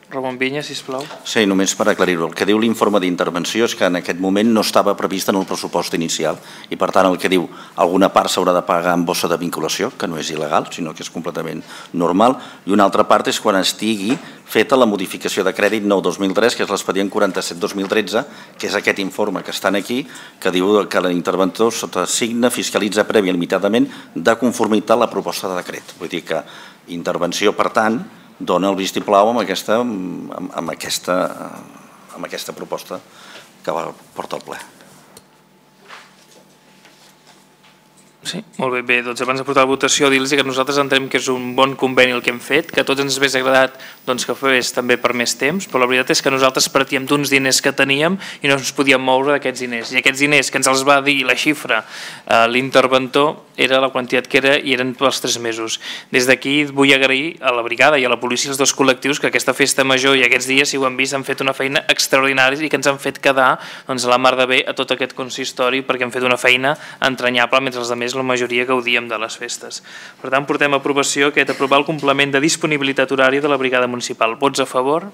Ramon Vinya, sisplau. Sí, només per aclarir-ho. El que diu l'informe d'intervenció és que en aquest moment no estava previst en el pressupost inicial i per tant el que diu alguna part s'haurà de pagar amb bossa de vinculació, que no és il·legal, sinó que és completament normal, i una altra part és quan estigui feta la modificació de crèdit nou dos mil tres, que és l'expedient quaranta-set dos mil tretze, que és aquest informe que estan aquí, que diu que l'interventor sota signe fiscalitza prèvia limitadament de conformitat a la proposta de decret. Vull dir que intervenció, per tant, dona el vistiplau amb aquesta, amb, amb, aquesta, amb aquesta proposta que va portar al ple. Sí, molt bé, bé, doncs abans de portar la votació dir-los que nosaltres entenem que és un bon conveni el que hem fet, que a tots ens hauria agradat doncs, que fes també per més temps, però la veritat és que nosaltres partíem d'uns diners que teníem i no ens podíem moure d'aquests diners, i aquests diners que ens els va dir la xifra eh, l'interventor era la quantitat que era i eren pels tres mesos. Des d'aquí vull agrair a la brigada i a la policia els dos col·lectius que aquesta festa major i aquests dies, si ho han vist, han fet una feina extraordinària i que ens han fet quedar doncs, a la mar de bé a tot aquest consistori perquè han fet una feina entranyable mentre els altres la majoria gaudíem de les festes. Per tant, portem a aprovació aquest aprovar el complement de disponibilitat horària de la brigada municipal. Vots a favor?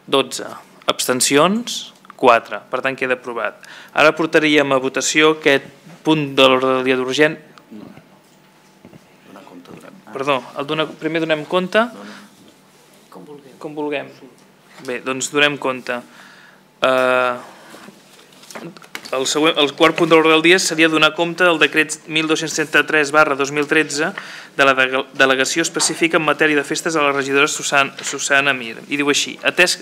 dotze. Abstencions? quatre. Per tant, queda aprovat. Ara portaríem a votació aquest punt de l'ordre del dia d'urgent. Perdó, el donar, primer donem compte? Com vulguem. Com vulguem. Bé, doncs donem compte. Uh, el, següent, el quart punt de l'ordre del dia seria donar compte del decret mil dos-cents trenta-tres barra dos mil tretze de la delegació específica en matèria de festes a la regidora Susana, Susana Mir. I diu així, atès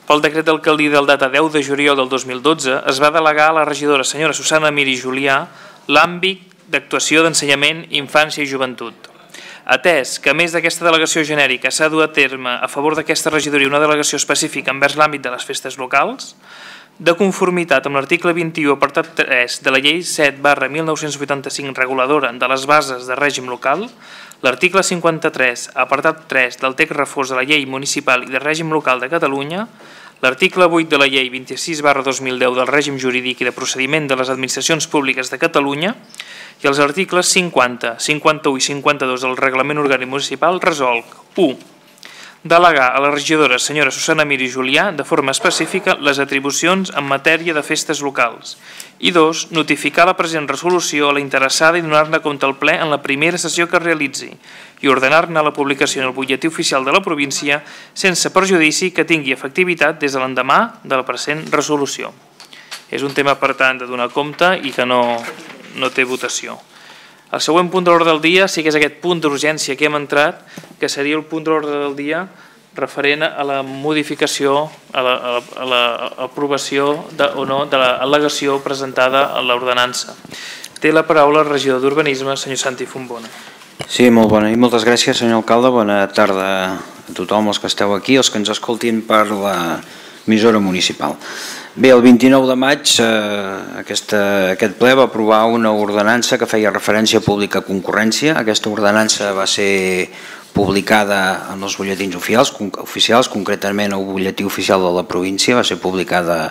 pel decret d'alcaldia del data deu de juliol del dos mil dotze, es va delegar a la regidora senyora Susana Mir i Julià l'àmbit d'actuació d'ensenyament, infància i joventut. Atès que a més d'aquesta delegació genèrica s'ha dut a terme a favor d'aquesta regidoria una delegació específica envers l'àmbit de les festes locals, de conformitat amb l'article vint-i-u, apartat tres de la llei set barra mil nou-cents vuitanta-cinc reguladora de les bases de règim local, l'article cinquanta-tres, apartat tres del text refós de la llei municipal i de règim local de Catalunya, l'article vuit de la llei vint-i-sis barra dos mil deu del règim jurídic i de procediment de les administracions públiques de Catalunya i els articles cinquanta, cinquanta-u i cinquanta-dos del reglament orgànic municipal resolc u. Delegar a la regidora senyora Susana Mir i Julià de forma específica les atribucions en matèria de festes locals i dos. Notificar la present resolució a la interessada i donar-ne compte al ple en la primera sessió que es realitzi i ordenar-ne la publicació en el butlletí oficial de la província sense perjudici que tingui efectivitat des de l'endemà de la present resolució. És un tema, per tant, de donar compte i que no, no té votació. El següent punt de l'ordre del dia sí que és aquest punt d'urgència que hem entrat, que seria el punt de l'ordre del dia referent a la modificació, a l'aprovació o no de l'al·legació presentada a l'ordenança. Té la paraula el regidor d'Urbanisme, senyor Santi Fontbona. Sí, molt bona i moltes gràcies, senyor alcalde. Bona tarda a tothom, els que esteu aquí, els que ens escoltin per l'emissora municipal. Bé, el vint-i-nou de maig eh, aquesta, aquest ple va aprovar una ordenança que feia referència a pública concurrència. Aquesta ordenança va ser publicada en els butlletins oficials, oficials concretament el butlletí oficial de la província, va ser publicada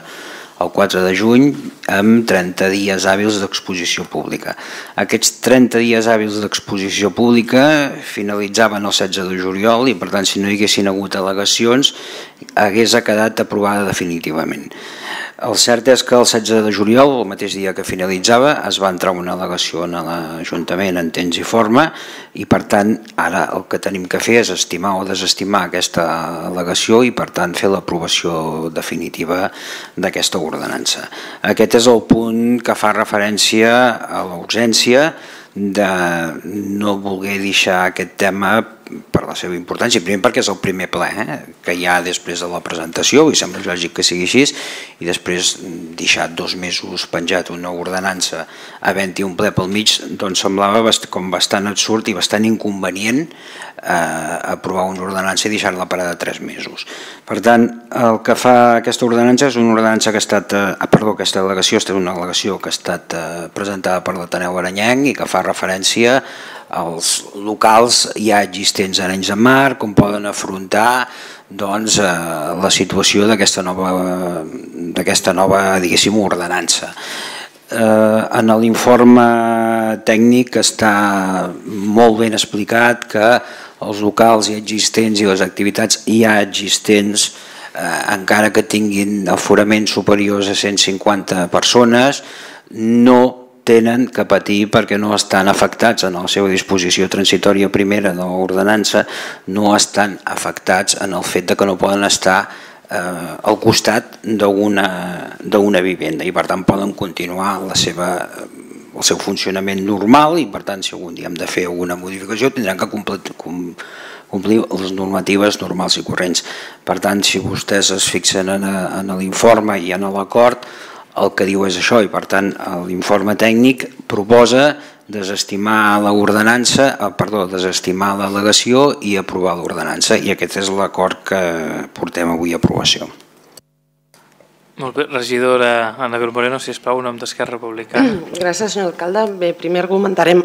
el quatre de juny amb trenta dies hàbils d'exposició pública. Aquests trenta dies hàbils d'exposició pública finalitzaven el setze de juliol i per tant si no hi haguessin hagut al·legacions hagués quedat aprovada definitivament. El cert és que el setze de juliol, el mateix dia que finalitzava, es va entrar una al·legació en l'Ajuntament en temps i forma i per tant ara el que tenim que fer és estimar o desestimar aquesta al·legació i per tant fer l'aprovació definitiva d'aquesta ordenança. Aquest és el punt que fa referència a la urgència de no voler deixar aquest tema per la seva importància, primer perquè és el primer ple eh, que hi ha després de la presentació i sembla lògic que sigui així i després deixar dos mesos penjat una ordenança havent-hi un ple pel mig doncs semblava bast com bastant absurd i bastant inconvenient eh, aprovar una ordenança i deixar-la parada tres mesos. Per tant, el que fa aquesta ordenança és una ordenança que ha estat, eh, perdó, aquesta al·legació és una al·legació que ha estat eh, presentada per l'Ateneu Aranyenc i que fa referència als locals ja existents a Arenys de Mar, com poden afrontar doncs, eh, la situació d'aquesta nova, d'aquesta nova diguéssim, ordenança. Eh, en l'informe tècnic està molt ben explicat que els locals ja existents i les activitats ja existents, eh, encara que tinguin aforaments superiors a cent cinquanta persones, no tenen que patir perquè no estan afectats en la seva disposició transitòria primera de l'ordenança, no estan afectats en el fet de que no poden estar eh, al costat d'una vivenda i per tant poden continuar la seva, el seu funcionament normal i per tant si algun dia hem de fer alguna modificació tindran que complir, com, complir les normatives normals i corrents. Per tant, si vostès es fixen en, en l'informe i en l'acord, el que diu és això i per tant l'informe tècnic proposa desestimar l'ordenança, perdó, desestimar l'al·legació i aprovar l'ordenança i aquest és l'acord que portem avui a aprovació. Molt bé, regidora Anabel Moreno, sisplau, en nom d'Esquerra Republicana. Gràcies, senyor alcalde. Bé, primer argumentarem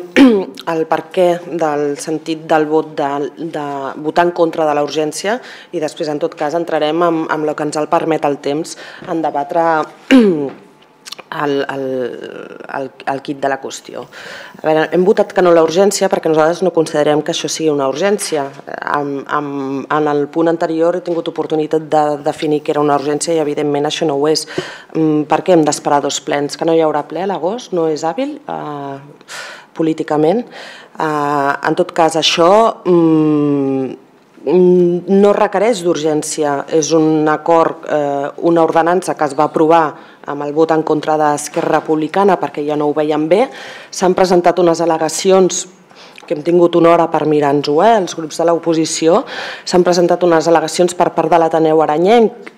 el perquè del sentit del vot de, de votar en contra de la urgència i després, en tot cas, entrarem amb, amb el que ens el permet el temps en debatre el, el, el, el quid de la qüestió. A veure, hem votat que no a la urgència perquè nosaltres no considerem que això sigui una urgència. En, en, en el punt anterior he tingut oportunitat de definir que era una urgència i evidentment això no ho és. Per què hem d'esperar dos plens? Que no hi haurà ple a l'agost? No és hàbil eh, políticament? Eh, en tot cas, això mm, no requereix d'urgència. És un acord, eh, una ordenança que es va aprovar amb el vot en contra d'Esquerra Republicana perquè ja no ho veiem bé. S'han presentat unes al·legacions que hem tingut una hora per mirar-nos-ho, eh? Els grups de l'oposició. S'han presentat unes al·legacions per part de l'Ateneu Aranyenc,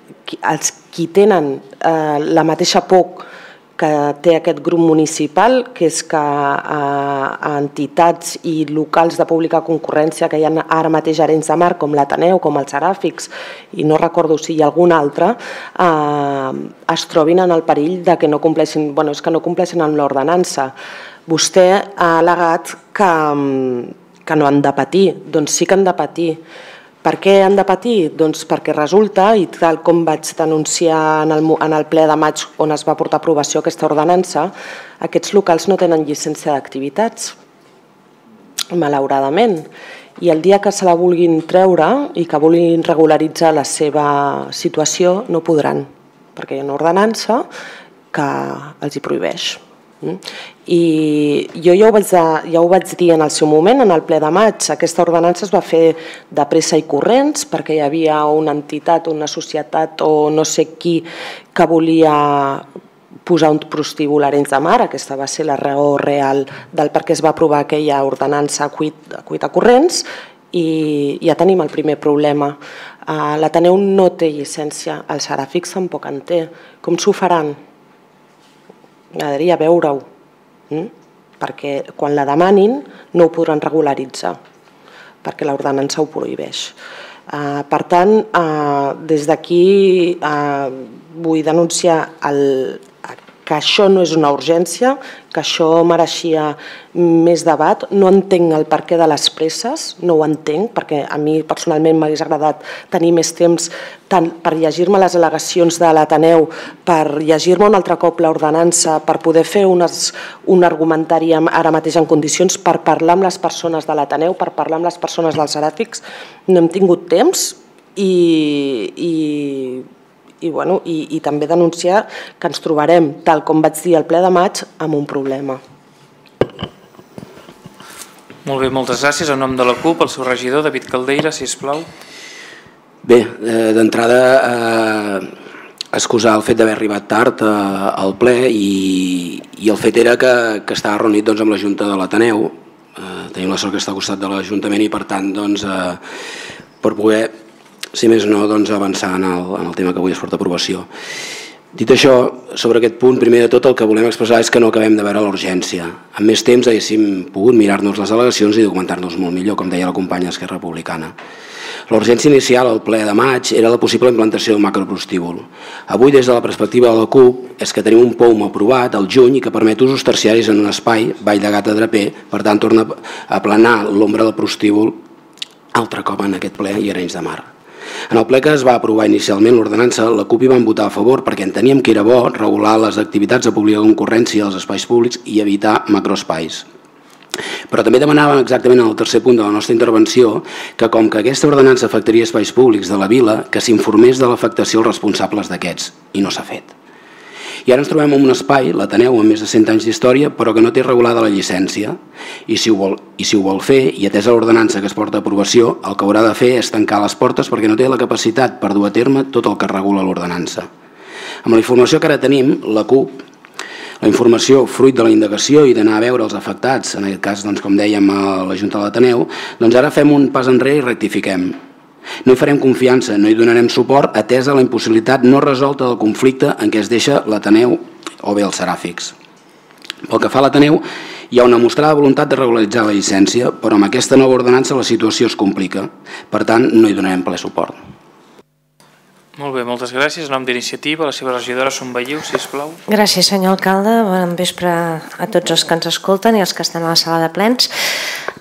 els qui tenen eh, la mateixa por que té aquest grup municipal, que és que a entitats i locals de pública concurrència que hi ha ara mateix a Arenys de Mar, com l'Ateneu, com els Seràfics, i no recordo si hi ha algun altre, es trobin en el perill de que no compleixin, bueno, és que no compleixin amb l'ordenança. Vostè ha al·legat que no han de patir, doncs sí que han de patir. Per què han de patir? Doncs perquè resulta, i tal com vaig denunciar en el ple de maig on es va portar a aprovació aquesta ordenança, aquests locals no tenen llicència d'activitats, malauradament. I el dia que se la vulguin treure i que vulguin regularitzar la seva situació no podran, perquè hi ha una ordenança que els hi prohibeix. I jo ja ho, vaig, ja ho vaig dir en el seu moment, en el ple de maig. Aquesta ordenança es va fer de pressa i corrents perquè hi havia una entitat, una societat o no sé qui que volia posar un prostíbul a Arenys de Mar. Aquesta va ser la raó real del per què es va aprovar aquella ordenança a cuita corrents i ja tenim el primer problema. L'Ateneu no té llicència, el Seràfics tampoc en té. Com s'ho faran? M'agradaria veure-ho, perquè quan la demanin no ho podran regularitzar, perquè l'ordenança ho prohibeix. Per tant, des d'aquí vull denunciar que això no és una urgència, que això mereixia més debat. No entenc el perquè de les presses, no ho entenc, perquè a mi personalment m'hagués agradat tenir més temps tant per llegir-me les al·legacions de l'Ateneu, per llegir-me un altre cop l'ordenança, per poder fer un argumentari ara mateix en condicions, per parlar amb les persones de l'Ateneu, per parlar amb les persones dels Seràfics. No hem tingut temps i... I, bueno, i, i també denunciar que ens trobarem, tal com vaig dir al ple de maig, amb un problema. Molt bé, moltes gràcies. En nom de la CUP, el seu regidor, David Caldeira, sisplau. Bé, d'entrada, eh, excusar el fet d'haver arribat tard eh, al ple i, i el fet era que, que estava reunit doncs, amb la Junta de l'Ateneu. Eh, tenim la sort que està al costat de l'Ajuntament i per tant, doncs, eh, per poder... si més no, doncs, avançar en el, en el tema que avui es porta a aprovació. Dit això, sobre aquest punt, primer de tot el que volem expressar és que no acabem de veure l'urgència. Amb més temps haguéssim pogut mirar-nos les al·legacions i documentar-nos molt millor, com deia la companya d'Esquerra Republicana. L'urgència inicial al ple de maig era la possible implantació d'un macroprostíbul. Avui, des de la perspectiva de la CUP, és que tenim un P O U M aprovat al juny i que permet usos terciaris en un espai, Vall de Gata Draper, per tant torna a aplanar l'ombra del prostíbul altre cop en aquest ple i Arenys de Mar. En el ple que es va aprovar inicialment l'ordenança, la CUP hi vam votar a favor perquè enteníem que era bo regular les activitats de pública concurrència als espais públics i evitar macroespais. Però també demanàvem exactament en el tercer punt de la nostra intervenció que com que aquesta ordenança afectaria espais públics de la vila, que s'informés de l'afectació als responsables d'aquests, i no s'ha fet. I ara ens trobem en un espai, l'Ateneu, amb més de cent anys d'història, però que no té regulada la llicència. I si ho vol, i si ho vol fer, i atesa l'ordenança que es porta a aprovació, el que haurà de fer és tancar les portes perquè no té la capacitat per dur a terme tot el que regula l'ordenança. Amb la informació que ara tenim, la CUP, la informació fruit de la indagació i d'anar a veure els afectats, en aquest cas, doncs, com dèiem, a la Junta de l'Ateneu, doncs ara fem un pas enrere i rectifiquem. No hi farem confiança, no hi donarem suport atesa la impossibilitat no resolta del conflicte en què es deixa l'Ateneu o bé els Seràfics. Pel que fa a l'Ateneu, hi ha una mostrada voluntat de regularitzar la llicència, però amb aquesta nova ordenança la situació es complica. Per tant, no hi donarem ple suport. Molt bé, moltes gràcies. En nom d'Iniciativa, la seva regidora Sombelliu, sisplau. Gràcies, senyor alcalde. Bon vespre a tots els que ens escolten i els que estan a la sala de plens.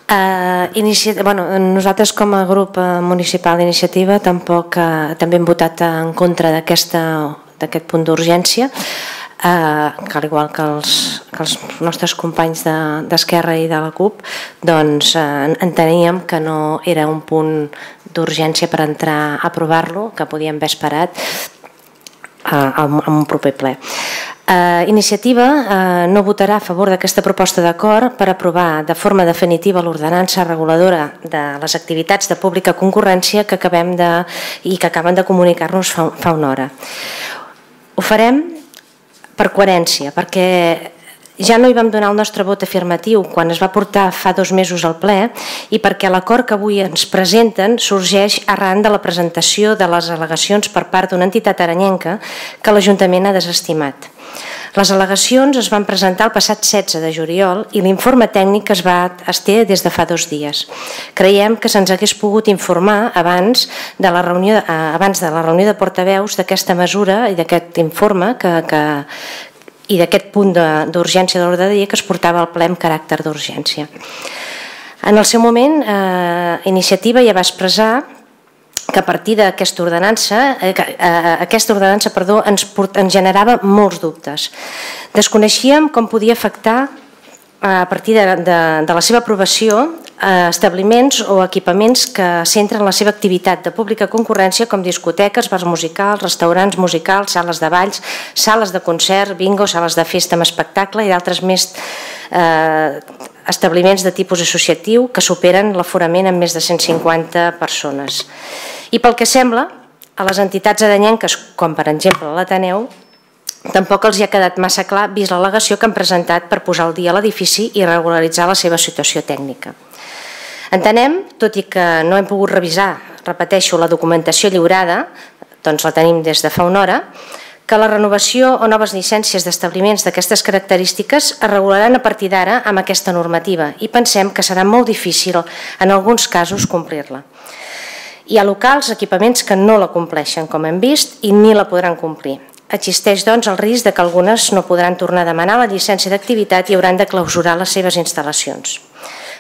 Uh, inici... bueno, nosaltres com a grup municipal d'iniciativa tampoc uh, també hem votat en contra d'aquest punt d'urgència, uh, que al igual que els, que els nostres companys d'Esquerra i de la CUP, doncs uh, enteníem que no era un punt d'urgència per entrar a aprovar-lo, que podíem haver esperat uh, en un proper ple. Uh, iniciativa uh, no votarà a favor d'aquesta proposta d'acord per aprovar de forma definitiva l'ordenança reguladora de les activitats de pública concurrència que acabem de, i que acaben de comunicar-nos fa, fa una hora. Ho farem per coherència, perquè ja no hi vam donar el nostre vot afirmatiu quan es va portar fa dos mesos al ple i perquè l'acord que avui ens presenten sorgeix arran de la presentació de les al·legacions per part d'una entitat arenyenca que l'Ajuntament ha desestimat. Les al·legacions es van presentar el passat setze de juliol i l'informe tècnic es va estar des de fa dos dies. Creiem que se'ns hagués pogut informar abans de la reunió, abans de la reunió de portaveus d'aquesta mesura i d'aquest informe que, que, i d'aquest punt d'urgència de l'ordre del dia que es portava al ple amb caràcter d'urgència. En el seu moment, eh, Iniciativa ja va expressar que a partir d'aquesta ordenança, eh, aquesta ordenança perdó, ens, ens generava molts dubtes. Desconeixíem com podia afectar a partir de, de, de la seva aprovació a establiments o equipaments que centren la seva activitat de pública concurrència com discoteques, bars musicals, restaurants musicals, sales de balls, sales de concert, bingo, sales de festa amb espectacle i d'altres més eh, establiments de tipus associatiu que superen l'aforament amb més de cent cinquanta persones. I pel que sembla, a les entitats adanyenques, com per exemple l'Ateneu, tampoc els hi ha quedat massa clar vist l'al·legació que han presentat per posar al dia l'edifici i regularitzar la seva situació tècnica. Entenem, tot i que no hem pogut revisar, repeteixo, la documentació lliurada, doncs la tenim des de fa una hora, que la renovació o noves llicències d'establiments d'aquestes característiques es regularan a partir d'ara amb aquesta normativa i pensem que serà molt difícil en alguns casos complir-la. Hi ha locals, equipaments que no la compleixen, com hem vist, i ni la podran complir. Existeix, doncs, el risc que algunes no podran tornar a demanar la llicència d'activitat i hauran de clausurar les seves instal·lacions.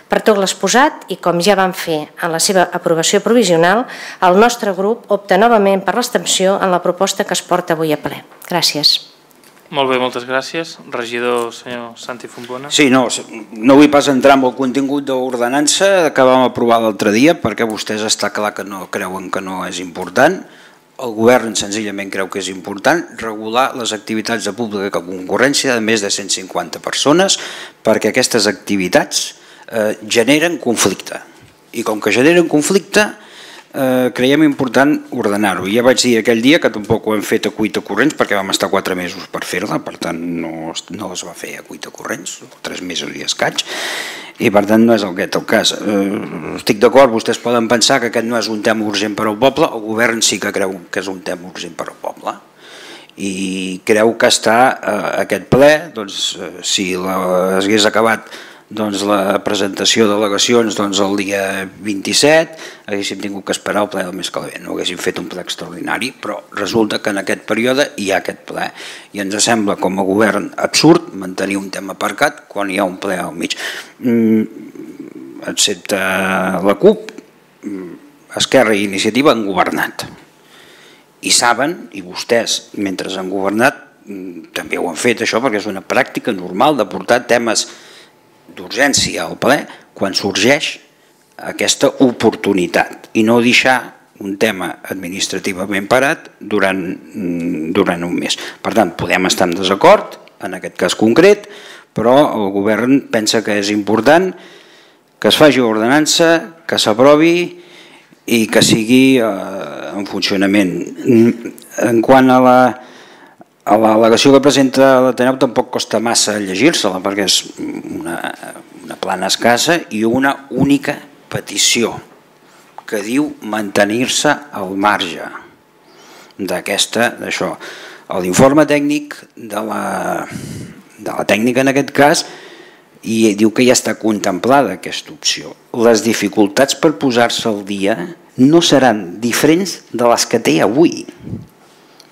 Per tot l'exposat, i com ja vam fer en la seva aprovació provisional, el nostre grup opta novament per l'abstenció en la proposta que es porta avui a ple. Gràcies. Molt bé, moltes gràcies. Regidor, senyor Santi Fontbona. Sí, no, no vull pas entrar en el contingut de l'ordenança que vam aprovar l'altre dia, perquè vostès està clar que no creuen que no és important. El govern senzillament creu que és important regular les activitats de pública concurrència de més de cent cinquanta persones perquè aquestes activitats eh, generen conflicte. I com que generen conflicte, eh, creiem important ordenar-ho. Ja vaig dir aquell dia que tampoc ho hem fet a cuita corrents perquè vam estar quatre mesos per fer-la, per tant no, no es va fer a cuita corrents, tres mesos i escaig, i per tant no és aquest el cas. Eh, estic d'acord, vostès poden pensar que aquest no és un tema urgent per al poble, el govern sí que creu que és un tema urgent per al poble i creu que està eh, aquest ple, doncs, eh, si la, hagués acabat doncs, la presentació d'al·legacions doncs, el dia vint-i-set, haguéssim tingut que esperar el ple del mes que ve, no haguéssim fet un ple extraordinari, però resulta que en aquest període hi ha aquest ple i ens sembla com a govern absurd mantenir un tema aparcat quan hi ha un ple al mig. Mm, excepte la CUP, Esquerra i Iniciativa han governat i saben, i vostès mentre han governat també ho han fet això perquè és una pràctica normal de portar temes d'urgència al ple quan sorgeix aquesta oportunitat i no deixar un tema administrativament parat durant, durant un mes. Per tant, podem estar en desacord en aquest cas concret, però el govern pensa que és important que es faci ordenança, que s'aprovi i que sigui eh, en funcionament. En quant a la A l'al·legació que presenta l'Ateneu tampoc costa massa llegir-se-la perquè és una, una plana escassa i una única petició que diu mantenir-se al marge d'aquesta, d'això. L'informe tècnic de la, de la tècnica en aquest cas i diu que ja està contemplada aquesta opció. Les dificultats per posar-se al dia no seran diferents de les que té avui.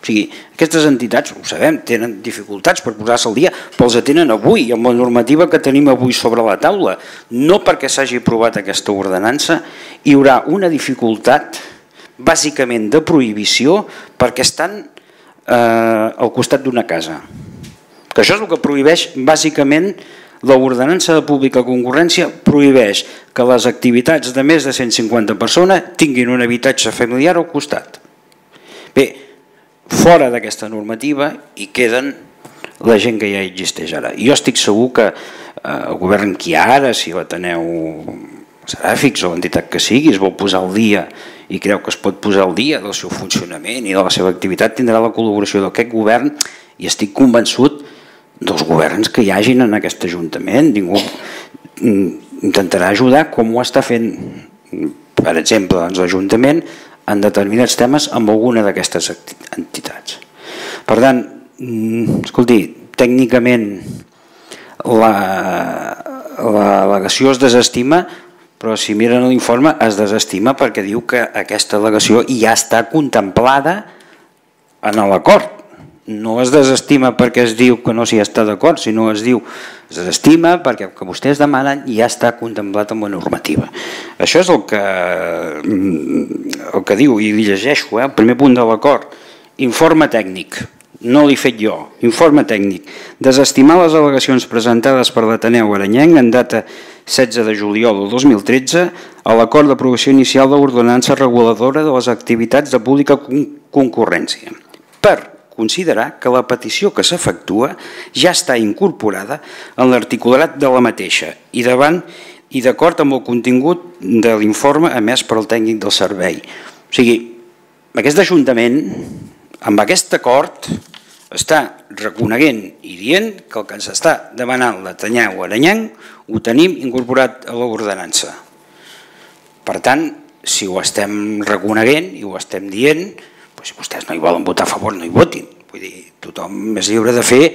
O sigui, aquestes entitats, ho sabem, tenen dificultats per posar-se al dia, però els tenen avui, amb la normativa que tenim avui sobre la taula. No perquè s'hagi aprovat aquesta ordenança, hi haurà una dificultat bàsicament de prohibició perquè estan eh, al costat d'una casa. Que això és el que prohibeix bàsicament l'ordenança de pública concurrència, prohibeix que les activitats de més de cent cinquanta persones tinguin un habitatge familiar al costat. Bé, fora d'aquesta normativa hi queden la gent que ja existeix ara. Jo estic segur que el govern que hi ha ara, si l'Ateneu Seràfics o l'entitat que sigui, es vol posar al dia i creu que es pot posar al dia del seu funcionament i de la seva activitat, tindrà la col·laboració d'aquest govern i estic convençut dels governs que hi hagin en aquest Ajuntament. Ningú intentarà ajudar com ho està fent, per exemple, l'Ajuntament en determinats temes amb alguna d'aquestes entitats. Per tant, escolti, tècnicament l'al·legació es desestima, però si miren l'informe es desestima perquè diu que aquesta al·legació ja està contemplada en l'acord. No es desestima perquè es diu que no s'hi està d'acord, sinó es diu es desestima perquè el que vostès demanen ja està contemplat en la normativa. Això és el que, el que diu, i li llegeixo, eh? El primer punt de l'acord, informe tècnic, no l'he fet jo, informe tècnic, desestimar les al·legacions presentades per l'Ateneu Arenyenc en data setze de juliol del dos mil tretze a l'acord d'aprovació inicial de l'ordenança reguladora de les activitats de pública concurrència, per considerar que la petició que s'efectua ja està incorporada en l'articulat de la mateixa i davant i d'acord amb el contingut de l'informe emès per al tècnic del servei. O sigui, aquest Ajuntament, amb aquest acord, està reconeguent i dient que el que ens està demanant l'Ateneu Arenyenc ho tenim incorporat a l'ordenança. Per tant, si ho estem reconeguent i ho estem dient, si vostès no hi volen votar a favor, no hi votin. Vull dir, tothom és lliure de fer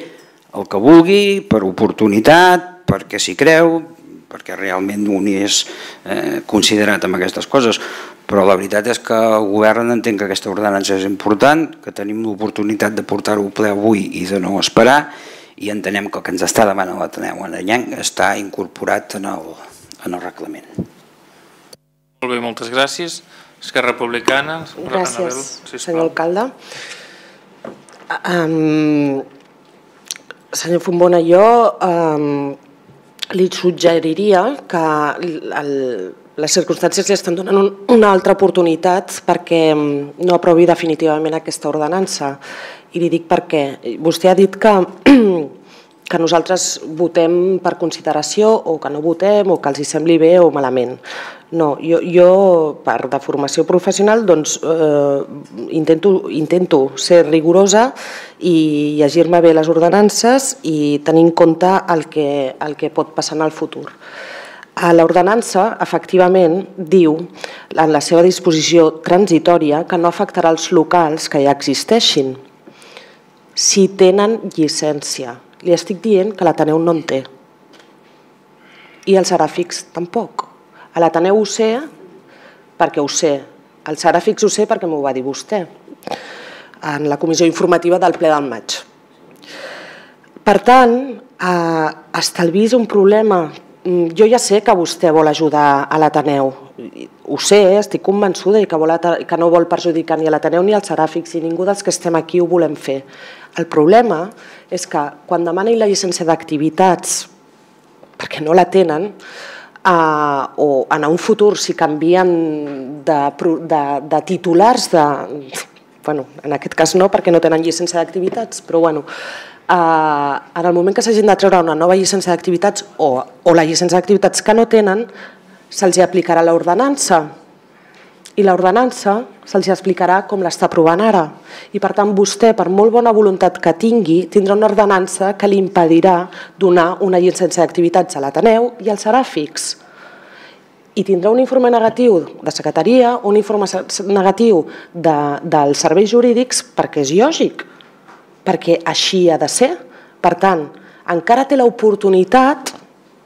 el que vulgui, per oportunitat, perquè s'hi creu, perquè realment un és considerat amb aquestes coses. Però la veritat és que el govern entén que aquesta ordenança és important, que tenim l'oportunitat de portar-ho ple avui i de no esperar, i entenem que el que ens està demanant l'Ateneu Arenyenc està incorporat en el reglament. Molt bé, moltes gràcies. Esquerra Republicana. Gràcies, senyor alcalde. Senyor Fontbona, jo li suggeriria que les circumstàncies li estan donant una altra oportunitat perquè no aprovi definitivament aquesta ordenança. I li dic per què. Vostè ha dit que que nosaltres votem per consideració o que no votem o que els sembli bé o malament. No, jo per de formació professional intento ser rigorosa i llegir-me bé les ordenances i tenir en compte el que pot passar en el futur. L'ordenança, efectivament, diu en la seva disposició transitòria que no afectarà els locals que ja existeixin si tenen llicència. Li estic dient que l'Ateneu no en té. I el Seràfix tampoc. A l'Ateneu ho sé perquè ho sé. El Seràfix ho sé perquè m'ho va dir vostè en la comissió informativa del ple del maig. Per tant, estalvis un problema. Jo ja sé que vostè vol ajudar a l'Ateneu. Ho sé, estic convençuda que no vol perjudicar ni a l'Ateneu ni al Seràfix i ningú dels que estem aquí ho volem fer. El problema és que quan demanin la llicència d'activitats perquè no la tenen o en un futur si canvien de titulars, en aquest cas no perquè no tenen llicència d'activitats, però bueno, en el moment que s'hagin de treure una nova llicència d'activitats o la llicència d'activitats que no tenen, se'ls aplicarà l'ordenança i l'ordenança se'ls explicarà com l'està aprovant ara. I per tant vostè, per molt bona voluntat que tingui, tindrà una ordenança que li impedirà donar una llicència d'activitats a l'Ateneu i al Seràfix. I tindrà un informe negatiu de secretaria, un informe negatiu dels serveis jurídics perquè és lògic, perquè així ha de ser. Per tant, encara té l'oportunitat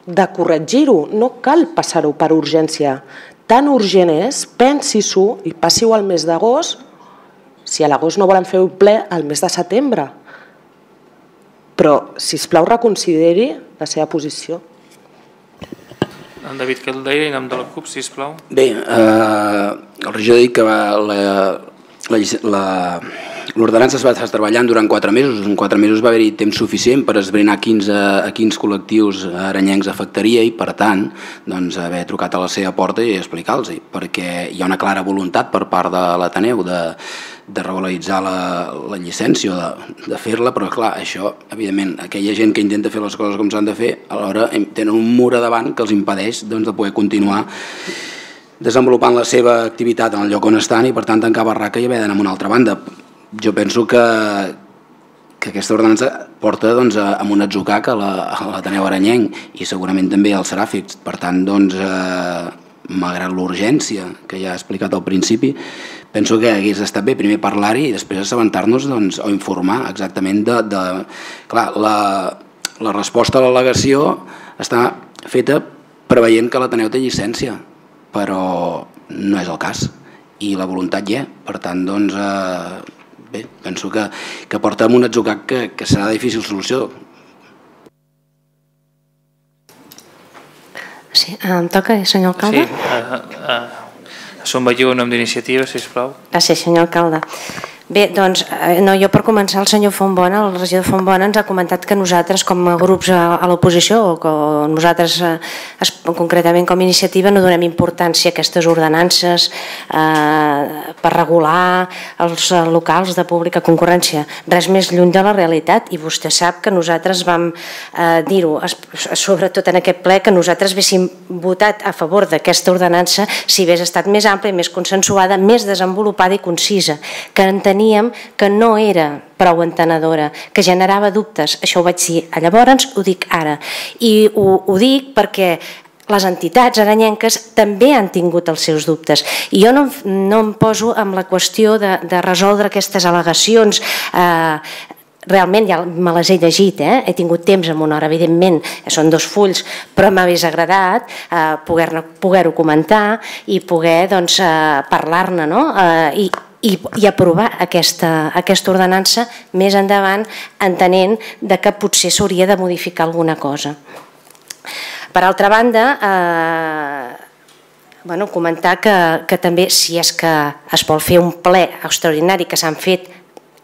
de corregir-ho, no cal passar-ho per urgència. Tan urgent és, pensi-s'ho i passi-ho al mes d'agost, si a l'agost no volen fer un ple, al mes de setembre. Però, sisplau, reconsideri la seva posició. En David Caldeira, en nom de la CUP, sisplau. Bé, el regidor ha dit que l'ordenança es va estar treballant durant quatre mesos. En quatre mesos va haver-hi temps suficient per esbrinar a quins col·lectius arenyencs afectaria i, per tant, haver trucat a la seva porta i explicar-los, perquè hi ha una clara voluntat per part de l'Ateneu de regularitzar la llicència o de fer-la, però clar, això, evidentment, aquella gent que intenta fer les coses com s'han de fer, alhora tenen un mur a davant que els impedeix de poder continuar desenvolupant la seva activitat en el lloc on estan i, per tant, tancar barraca i haver d'anar a una altra banda. Jo penso que aquesta ordenança porta amb un atzucac a l'Ateneu Arenyenc i segurament també al Seràfix. Per tant, malgrat l'urgència que ja he explicat al principi, penso que hagués estat bé primer parlar-hi i després assabentar-nos o informar exactament de... Clar, la resposta a l'al·legació està feta preveient que l'Ateneu té llicència, però no és el cas i la voluntat hi és. Per tant, doncs, bé, penso que porta amb un atzucac que serà de difícil solució. Sí, em toca, senyor alcalde? Sí, Som Vallú, en nom d'Iniciativa, sisplau. Gràcies, senyor alcalde. Bé, doncs, no, jo per començar, el senyor Fontbona, el regidor Fontbona, ens ha comentat que nosaltres, com a grups a, a l'oposició, o que nosaltres, eh, concretament com a iniciativa, no donem importància a aquestes ordenances eh, per regular els locals de pública concurrència. Res més lluny de la realitat, i vostè sap que nosaltres vam eh, dir-ho, sobretot en aquest ple, que nosaltres haguéssim votat a favor d'aquesta ordenança si hagués estat més àmplia, més consensuada, més desenvolupada i concisa, que enteníem que no era prou entenedora, que generava dubtes. Això ho vaig dir llavors, ho dic ara. I ho, ho dic perquè les entitats aranyenques també han tingut els seus dubtes. I jo no, no em poso amb la qüestió de, de resoldre aquestes al·legacions. Eh, realment ja me les he llegit, eh? He tingut temps en una hora, evidentment, són dos fulls, però m'hagués agradat eh, poder-ho poder comentar i poder doncs, eh, parlar-ne, no? Eh, i I, i aprovar aquesta, aquesta ordenança més endavant, entenent de que potser s'hauria de modificar alguna cosa. Per altra banda, eh, bueno, comentar que, que també, si és que es vol fer un ple extraordinari, que s'han fet,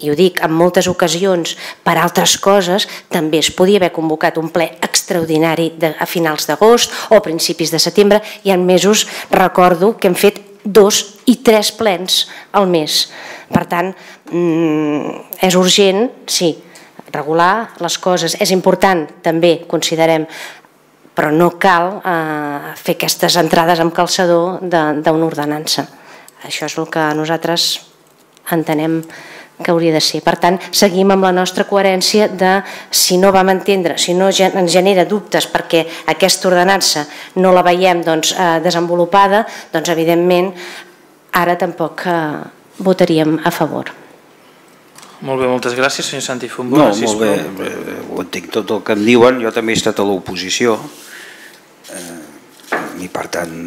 i ho dic, en moltes ocasions per altres coses, també es podia haver convocat un ple extraordinari de, a finals d'agost o a principis de setembre, i en mesos recordo que hem fet dos i tres plens al mes. Per tant, és urgent, sí, regular les coses. És important, també, considerem, però no cal eh, fer aquestes entrades amb calçador d'una ordenança. Això és el que nosaltres entenem que hauria de ser. Per tant, seguim amb la nostra coherència de, si no vam entendre, si no ens genera dubtes perquè aquesta ordenança no la veiem doncs, eh, desenvolupada, doncs evidentment ara tampoc eh, votaríem a favor. Molt bé, moltes gràcies, senyor Santi Fontbona. No, molt bé, ho entenc tot el que em diuen, jo també he estat a l'oposició eh, i per tant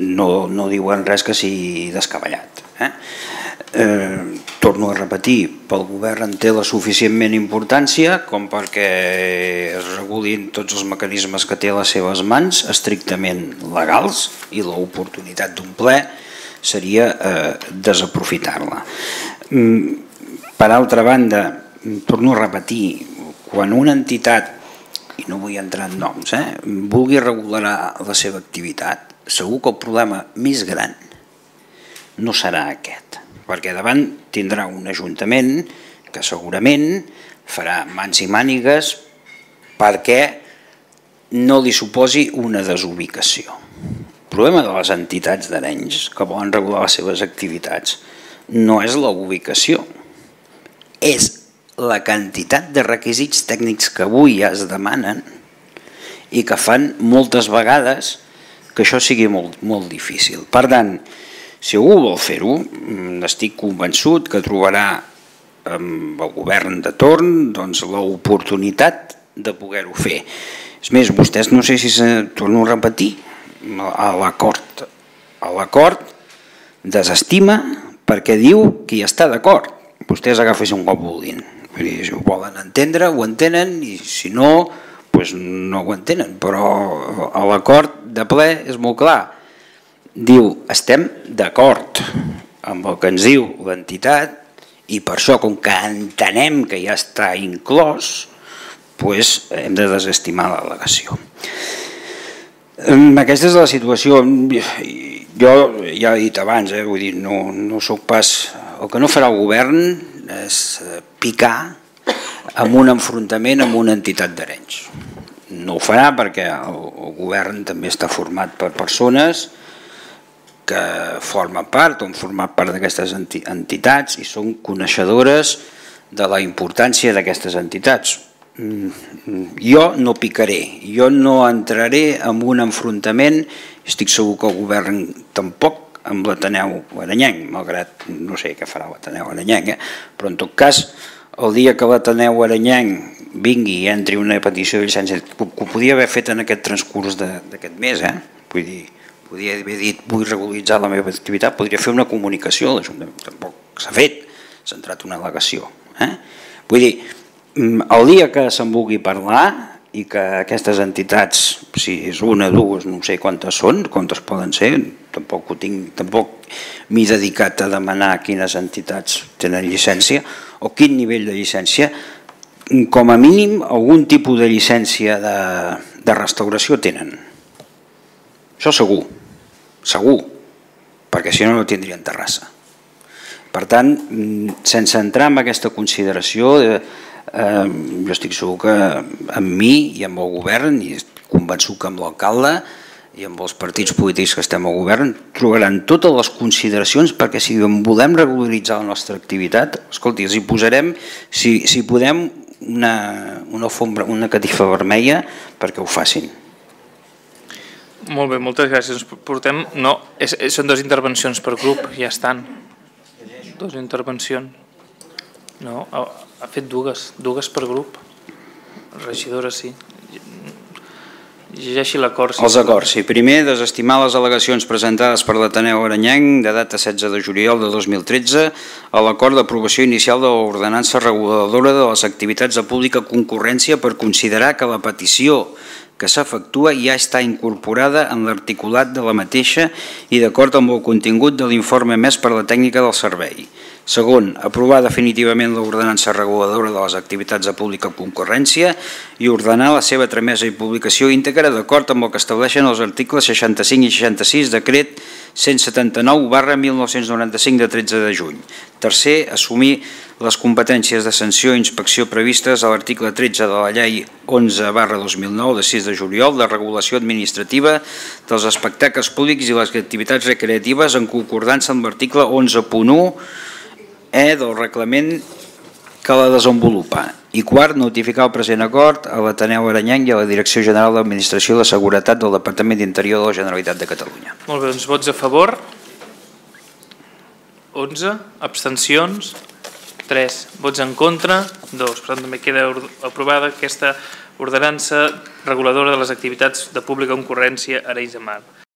no, no diuen res que sigui descabellat. Eh? Eh, torno a repetir, pel govern en té la suficientment importància com perquè es regulin tots els mecanismes que té a les seves mans, estrictament legals, i l'oportunitat d'un ple seria eh, desaprofitar-la. Per altra banda, torno a repetir, quan una entitat, i no vull entrar en noms, eh, vulgui regular la seva activitat, segur que el problema més gran no serà aquest, perquè davant tindrà un ajuntament que segurament farà mans i mànigues perquè no li suposi una desubicació. El problema de les entitats d'Arenys que volen regular les seves activitats no és la ubicació, és la quantitat de requisits tècnics que avui ja es demanen i que fan moltes vegades que això sigui molt, molt difícil. Per tant, si algú vol fer-ho, estic convençut que trobarà amb el govern de torn doncs, l'oportunitat de poder-ho fer. És més, vostès no sé si se torno a repetir, a l'acord a l'acord desestima perquè diu que hi està d'acord. Vostès agafessin un cop vulguin. Si ho volen entendre, ho entenen, i si no, doncs no ho entenen. Però l'acord de ple és molt clar. Diu, estem d'acord amb el que ens diu l'entitat i per això, com que entenem que ja està inclòs, doncs hem de desestimar l'al·legació. Aquesta és la situació. Jo ja he dit abans, eh, vull dir, no, no soc pas... El que no farà el govern és picar amb un enfrontament amb una entitat d'Arenys. No ho farà perquè el, el govern també està format per persones que formen part o han format part d'aquestes entitats i són coneixedores de la importància d'aquestes entitats. jo no picaré, jo no entraré en un enfrontament, estic segur que el govern tampoc, amb l'Ateneu Aranyenc, malgrat no sé què farà l'Ateneu Aranyenc, eh? Però en tot cas, el dia que l'Ateneu Aranyenc vingui i entri una petició de llicència, que ho podia haver fet en aquest transcurs d'aquest mes, eh? Vull dir, podria haver dit vull regularitzar la meva activitat, podria fer una comunicació, tampoc s'ha fet, s'ha entrat una al·legació. Vull dir, el dia que se'n vulgui parlar i que aquestes entitats, si és una, dues, no sé quantes són, quantes poden ser, tampoc ho tinc, tampoc m'he dedicat a demanar quines entitats tenen llicència o quin nivell de llicència, com a mínim algun tipus de llicència de, de restauració tenen. Això segur, segur, perquè si no no tindrien terrassa. Per tant, sense entrar en aquesta consideració, eh, jo estic segur que amb mi i amb el govern, i convençut que amb l'alcalde i amb els partits polítics que estem al govern, trobaran totes les consideracions perquè si volem regularitzar la nostra activitat, escolti, els hi posarem, si, si podem, una, una, fombra, una catifa vermella perquè ho facin. Molt bé, moltes gràcies. Portem, no, és, són dues intervencions per grup, ja estan. Dues intervencions. No, ha, ha fet dues, dues per grup. Regidora, sí. Llegeixi l'acord. Els acords, sí. Primer, desestimar les al·legacions presentades per l'Ateneu Aranyenc de data setze de juliol de dos mil tretze a l'acord d'aprovació inicial de l'ordenança reguladora de les activitats de pública concurrència per considerar que la petició que s'efectua ja està incorporada en l'articulat de la mateixa i d'acord amb el contingut de l'informe emès per la tècnica del servei. Segon, aprovar definitivament l'ordenança reguladora de les activitats de pública concurrència i ordenar la seva tramesa i publicació íntegra d'acord amb el que estableixen els articles seixanta-cinc i seixanta-sis decret cent setanta-nou barra mil nou-cents noranta-cinc de tretze de juny. Tercer, assumir les competències de sanció i inspecció previstes a l'article tretze de la llei onze barra dos mil nou de sis de juliol de regulació administrativa dels espectacles públics i les activitats recreatives en concordança amb l'article onze punt u E del reglament que la desenvolupa. I quart, notificar el present acord a l'Ateneu Aranyenc i a la Direcció General d'Administració de Seguretat del Departament d'Interior de la Generalitat de Catalunya. Molt bé, doncs vots a favor. onze. Abstencions. tres. Vots en contra. dos. Per tant, també queda aprovada aquesta ordenança reguladora de les activitats de pública concurrència a Arenys de Mar.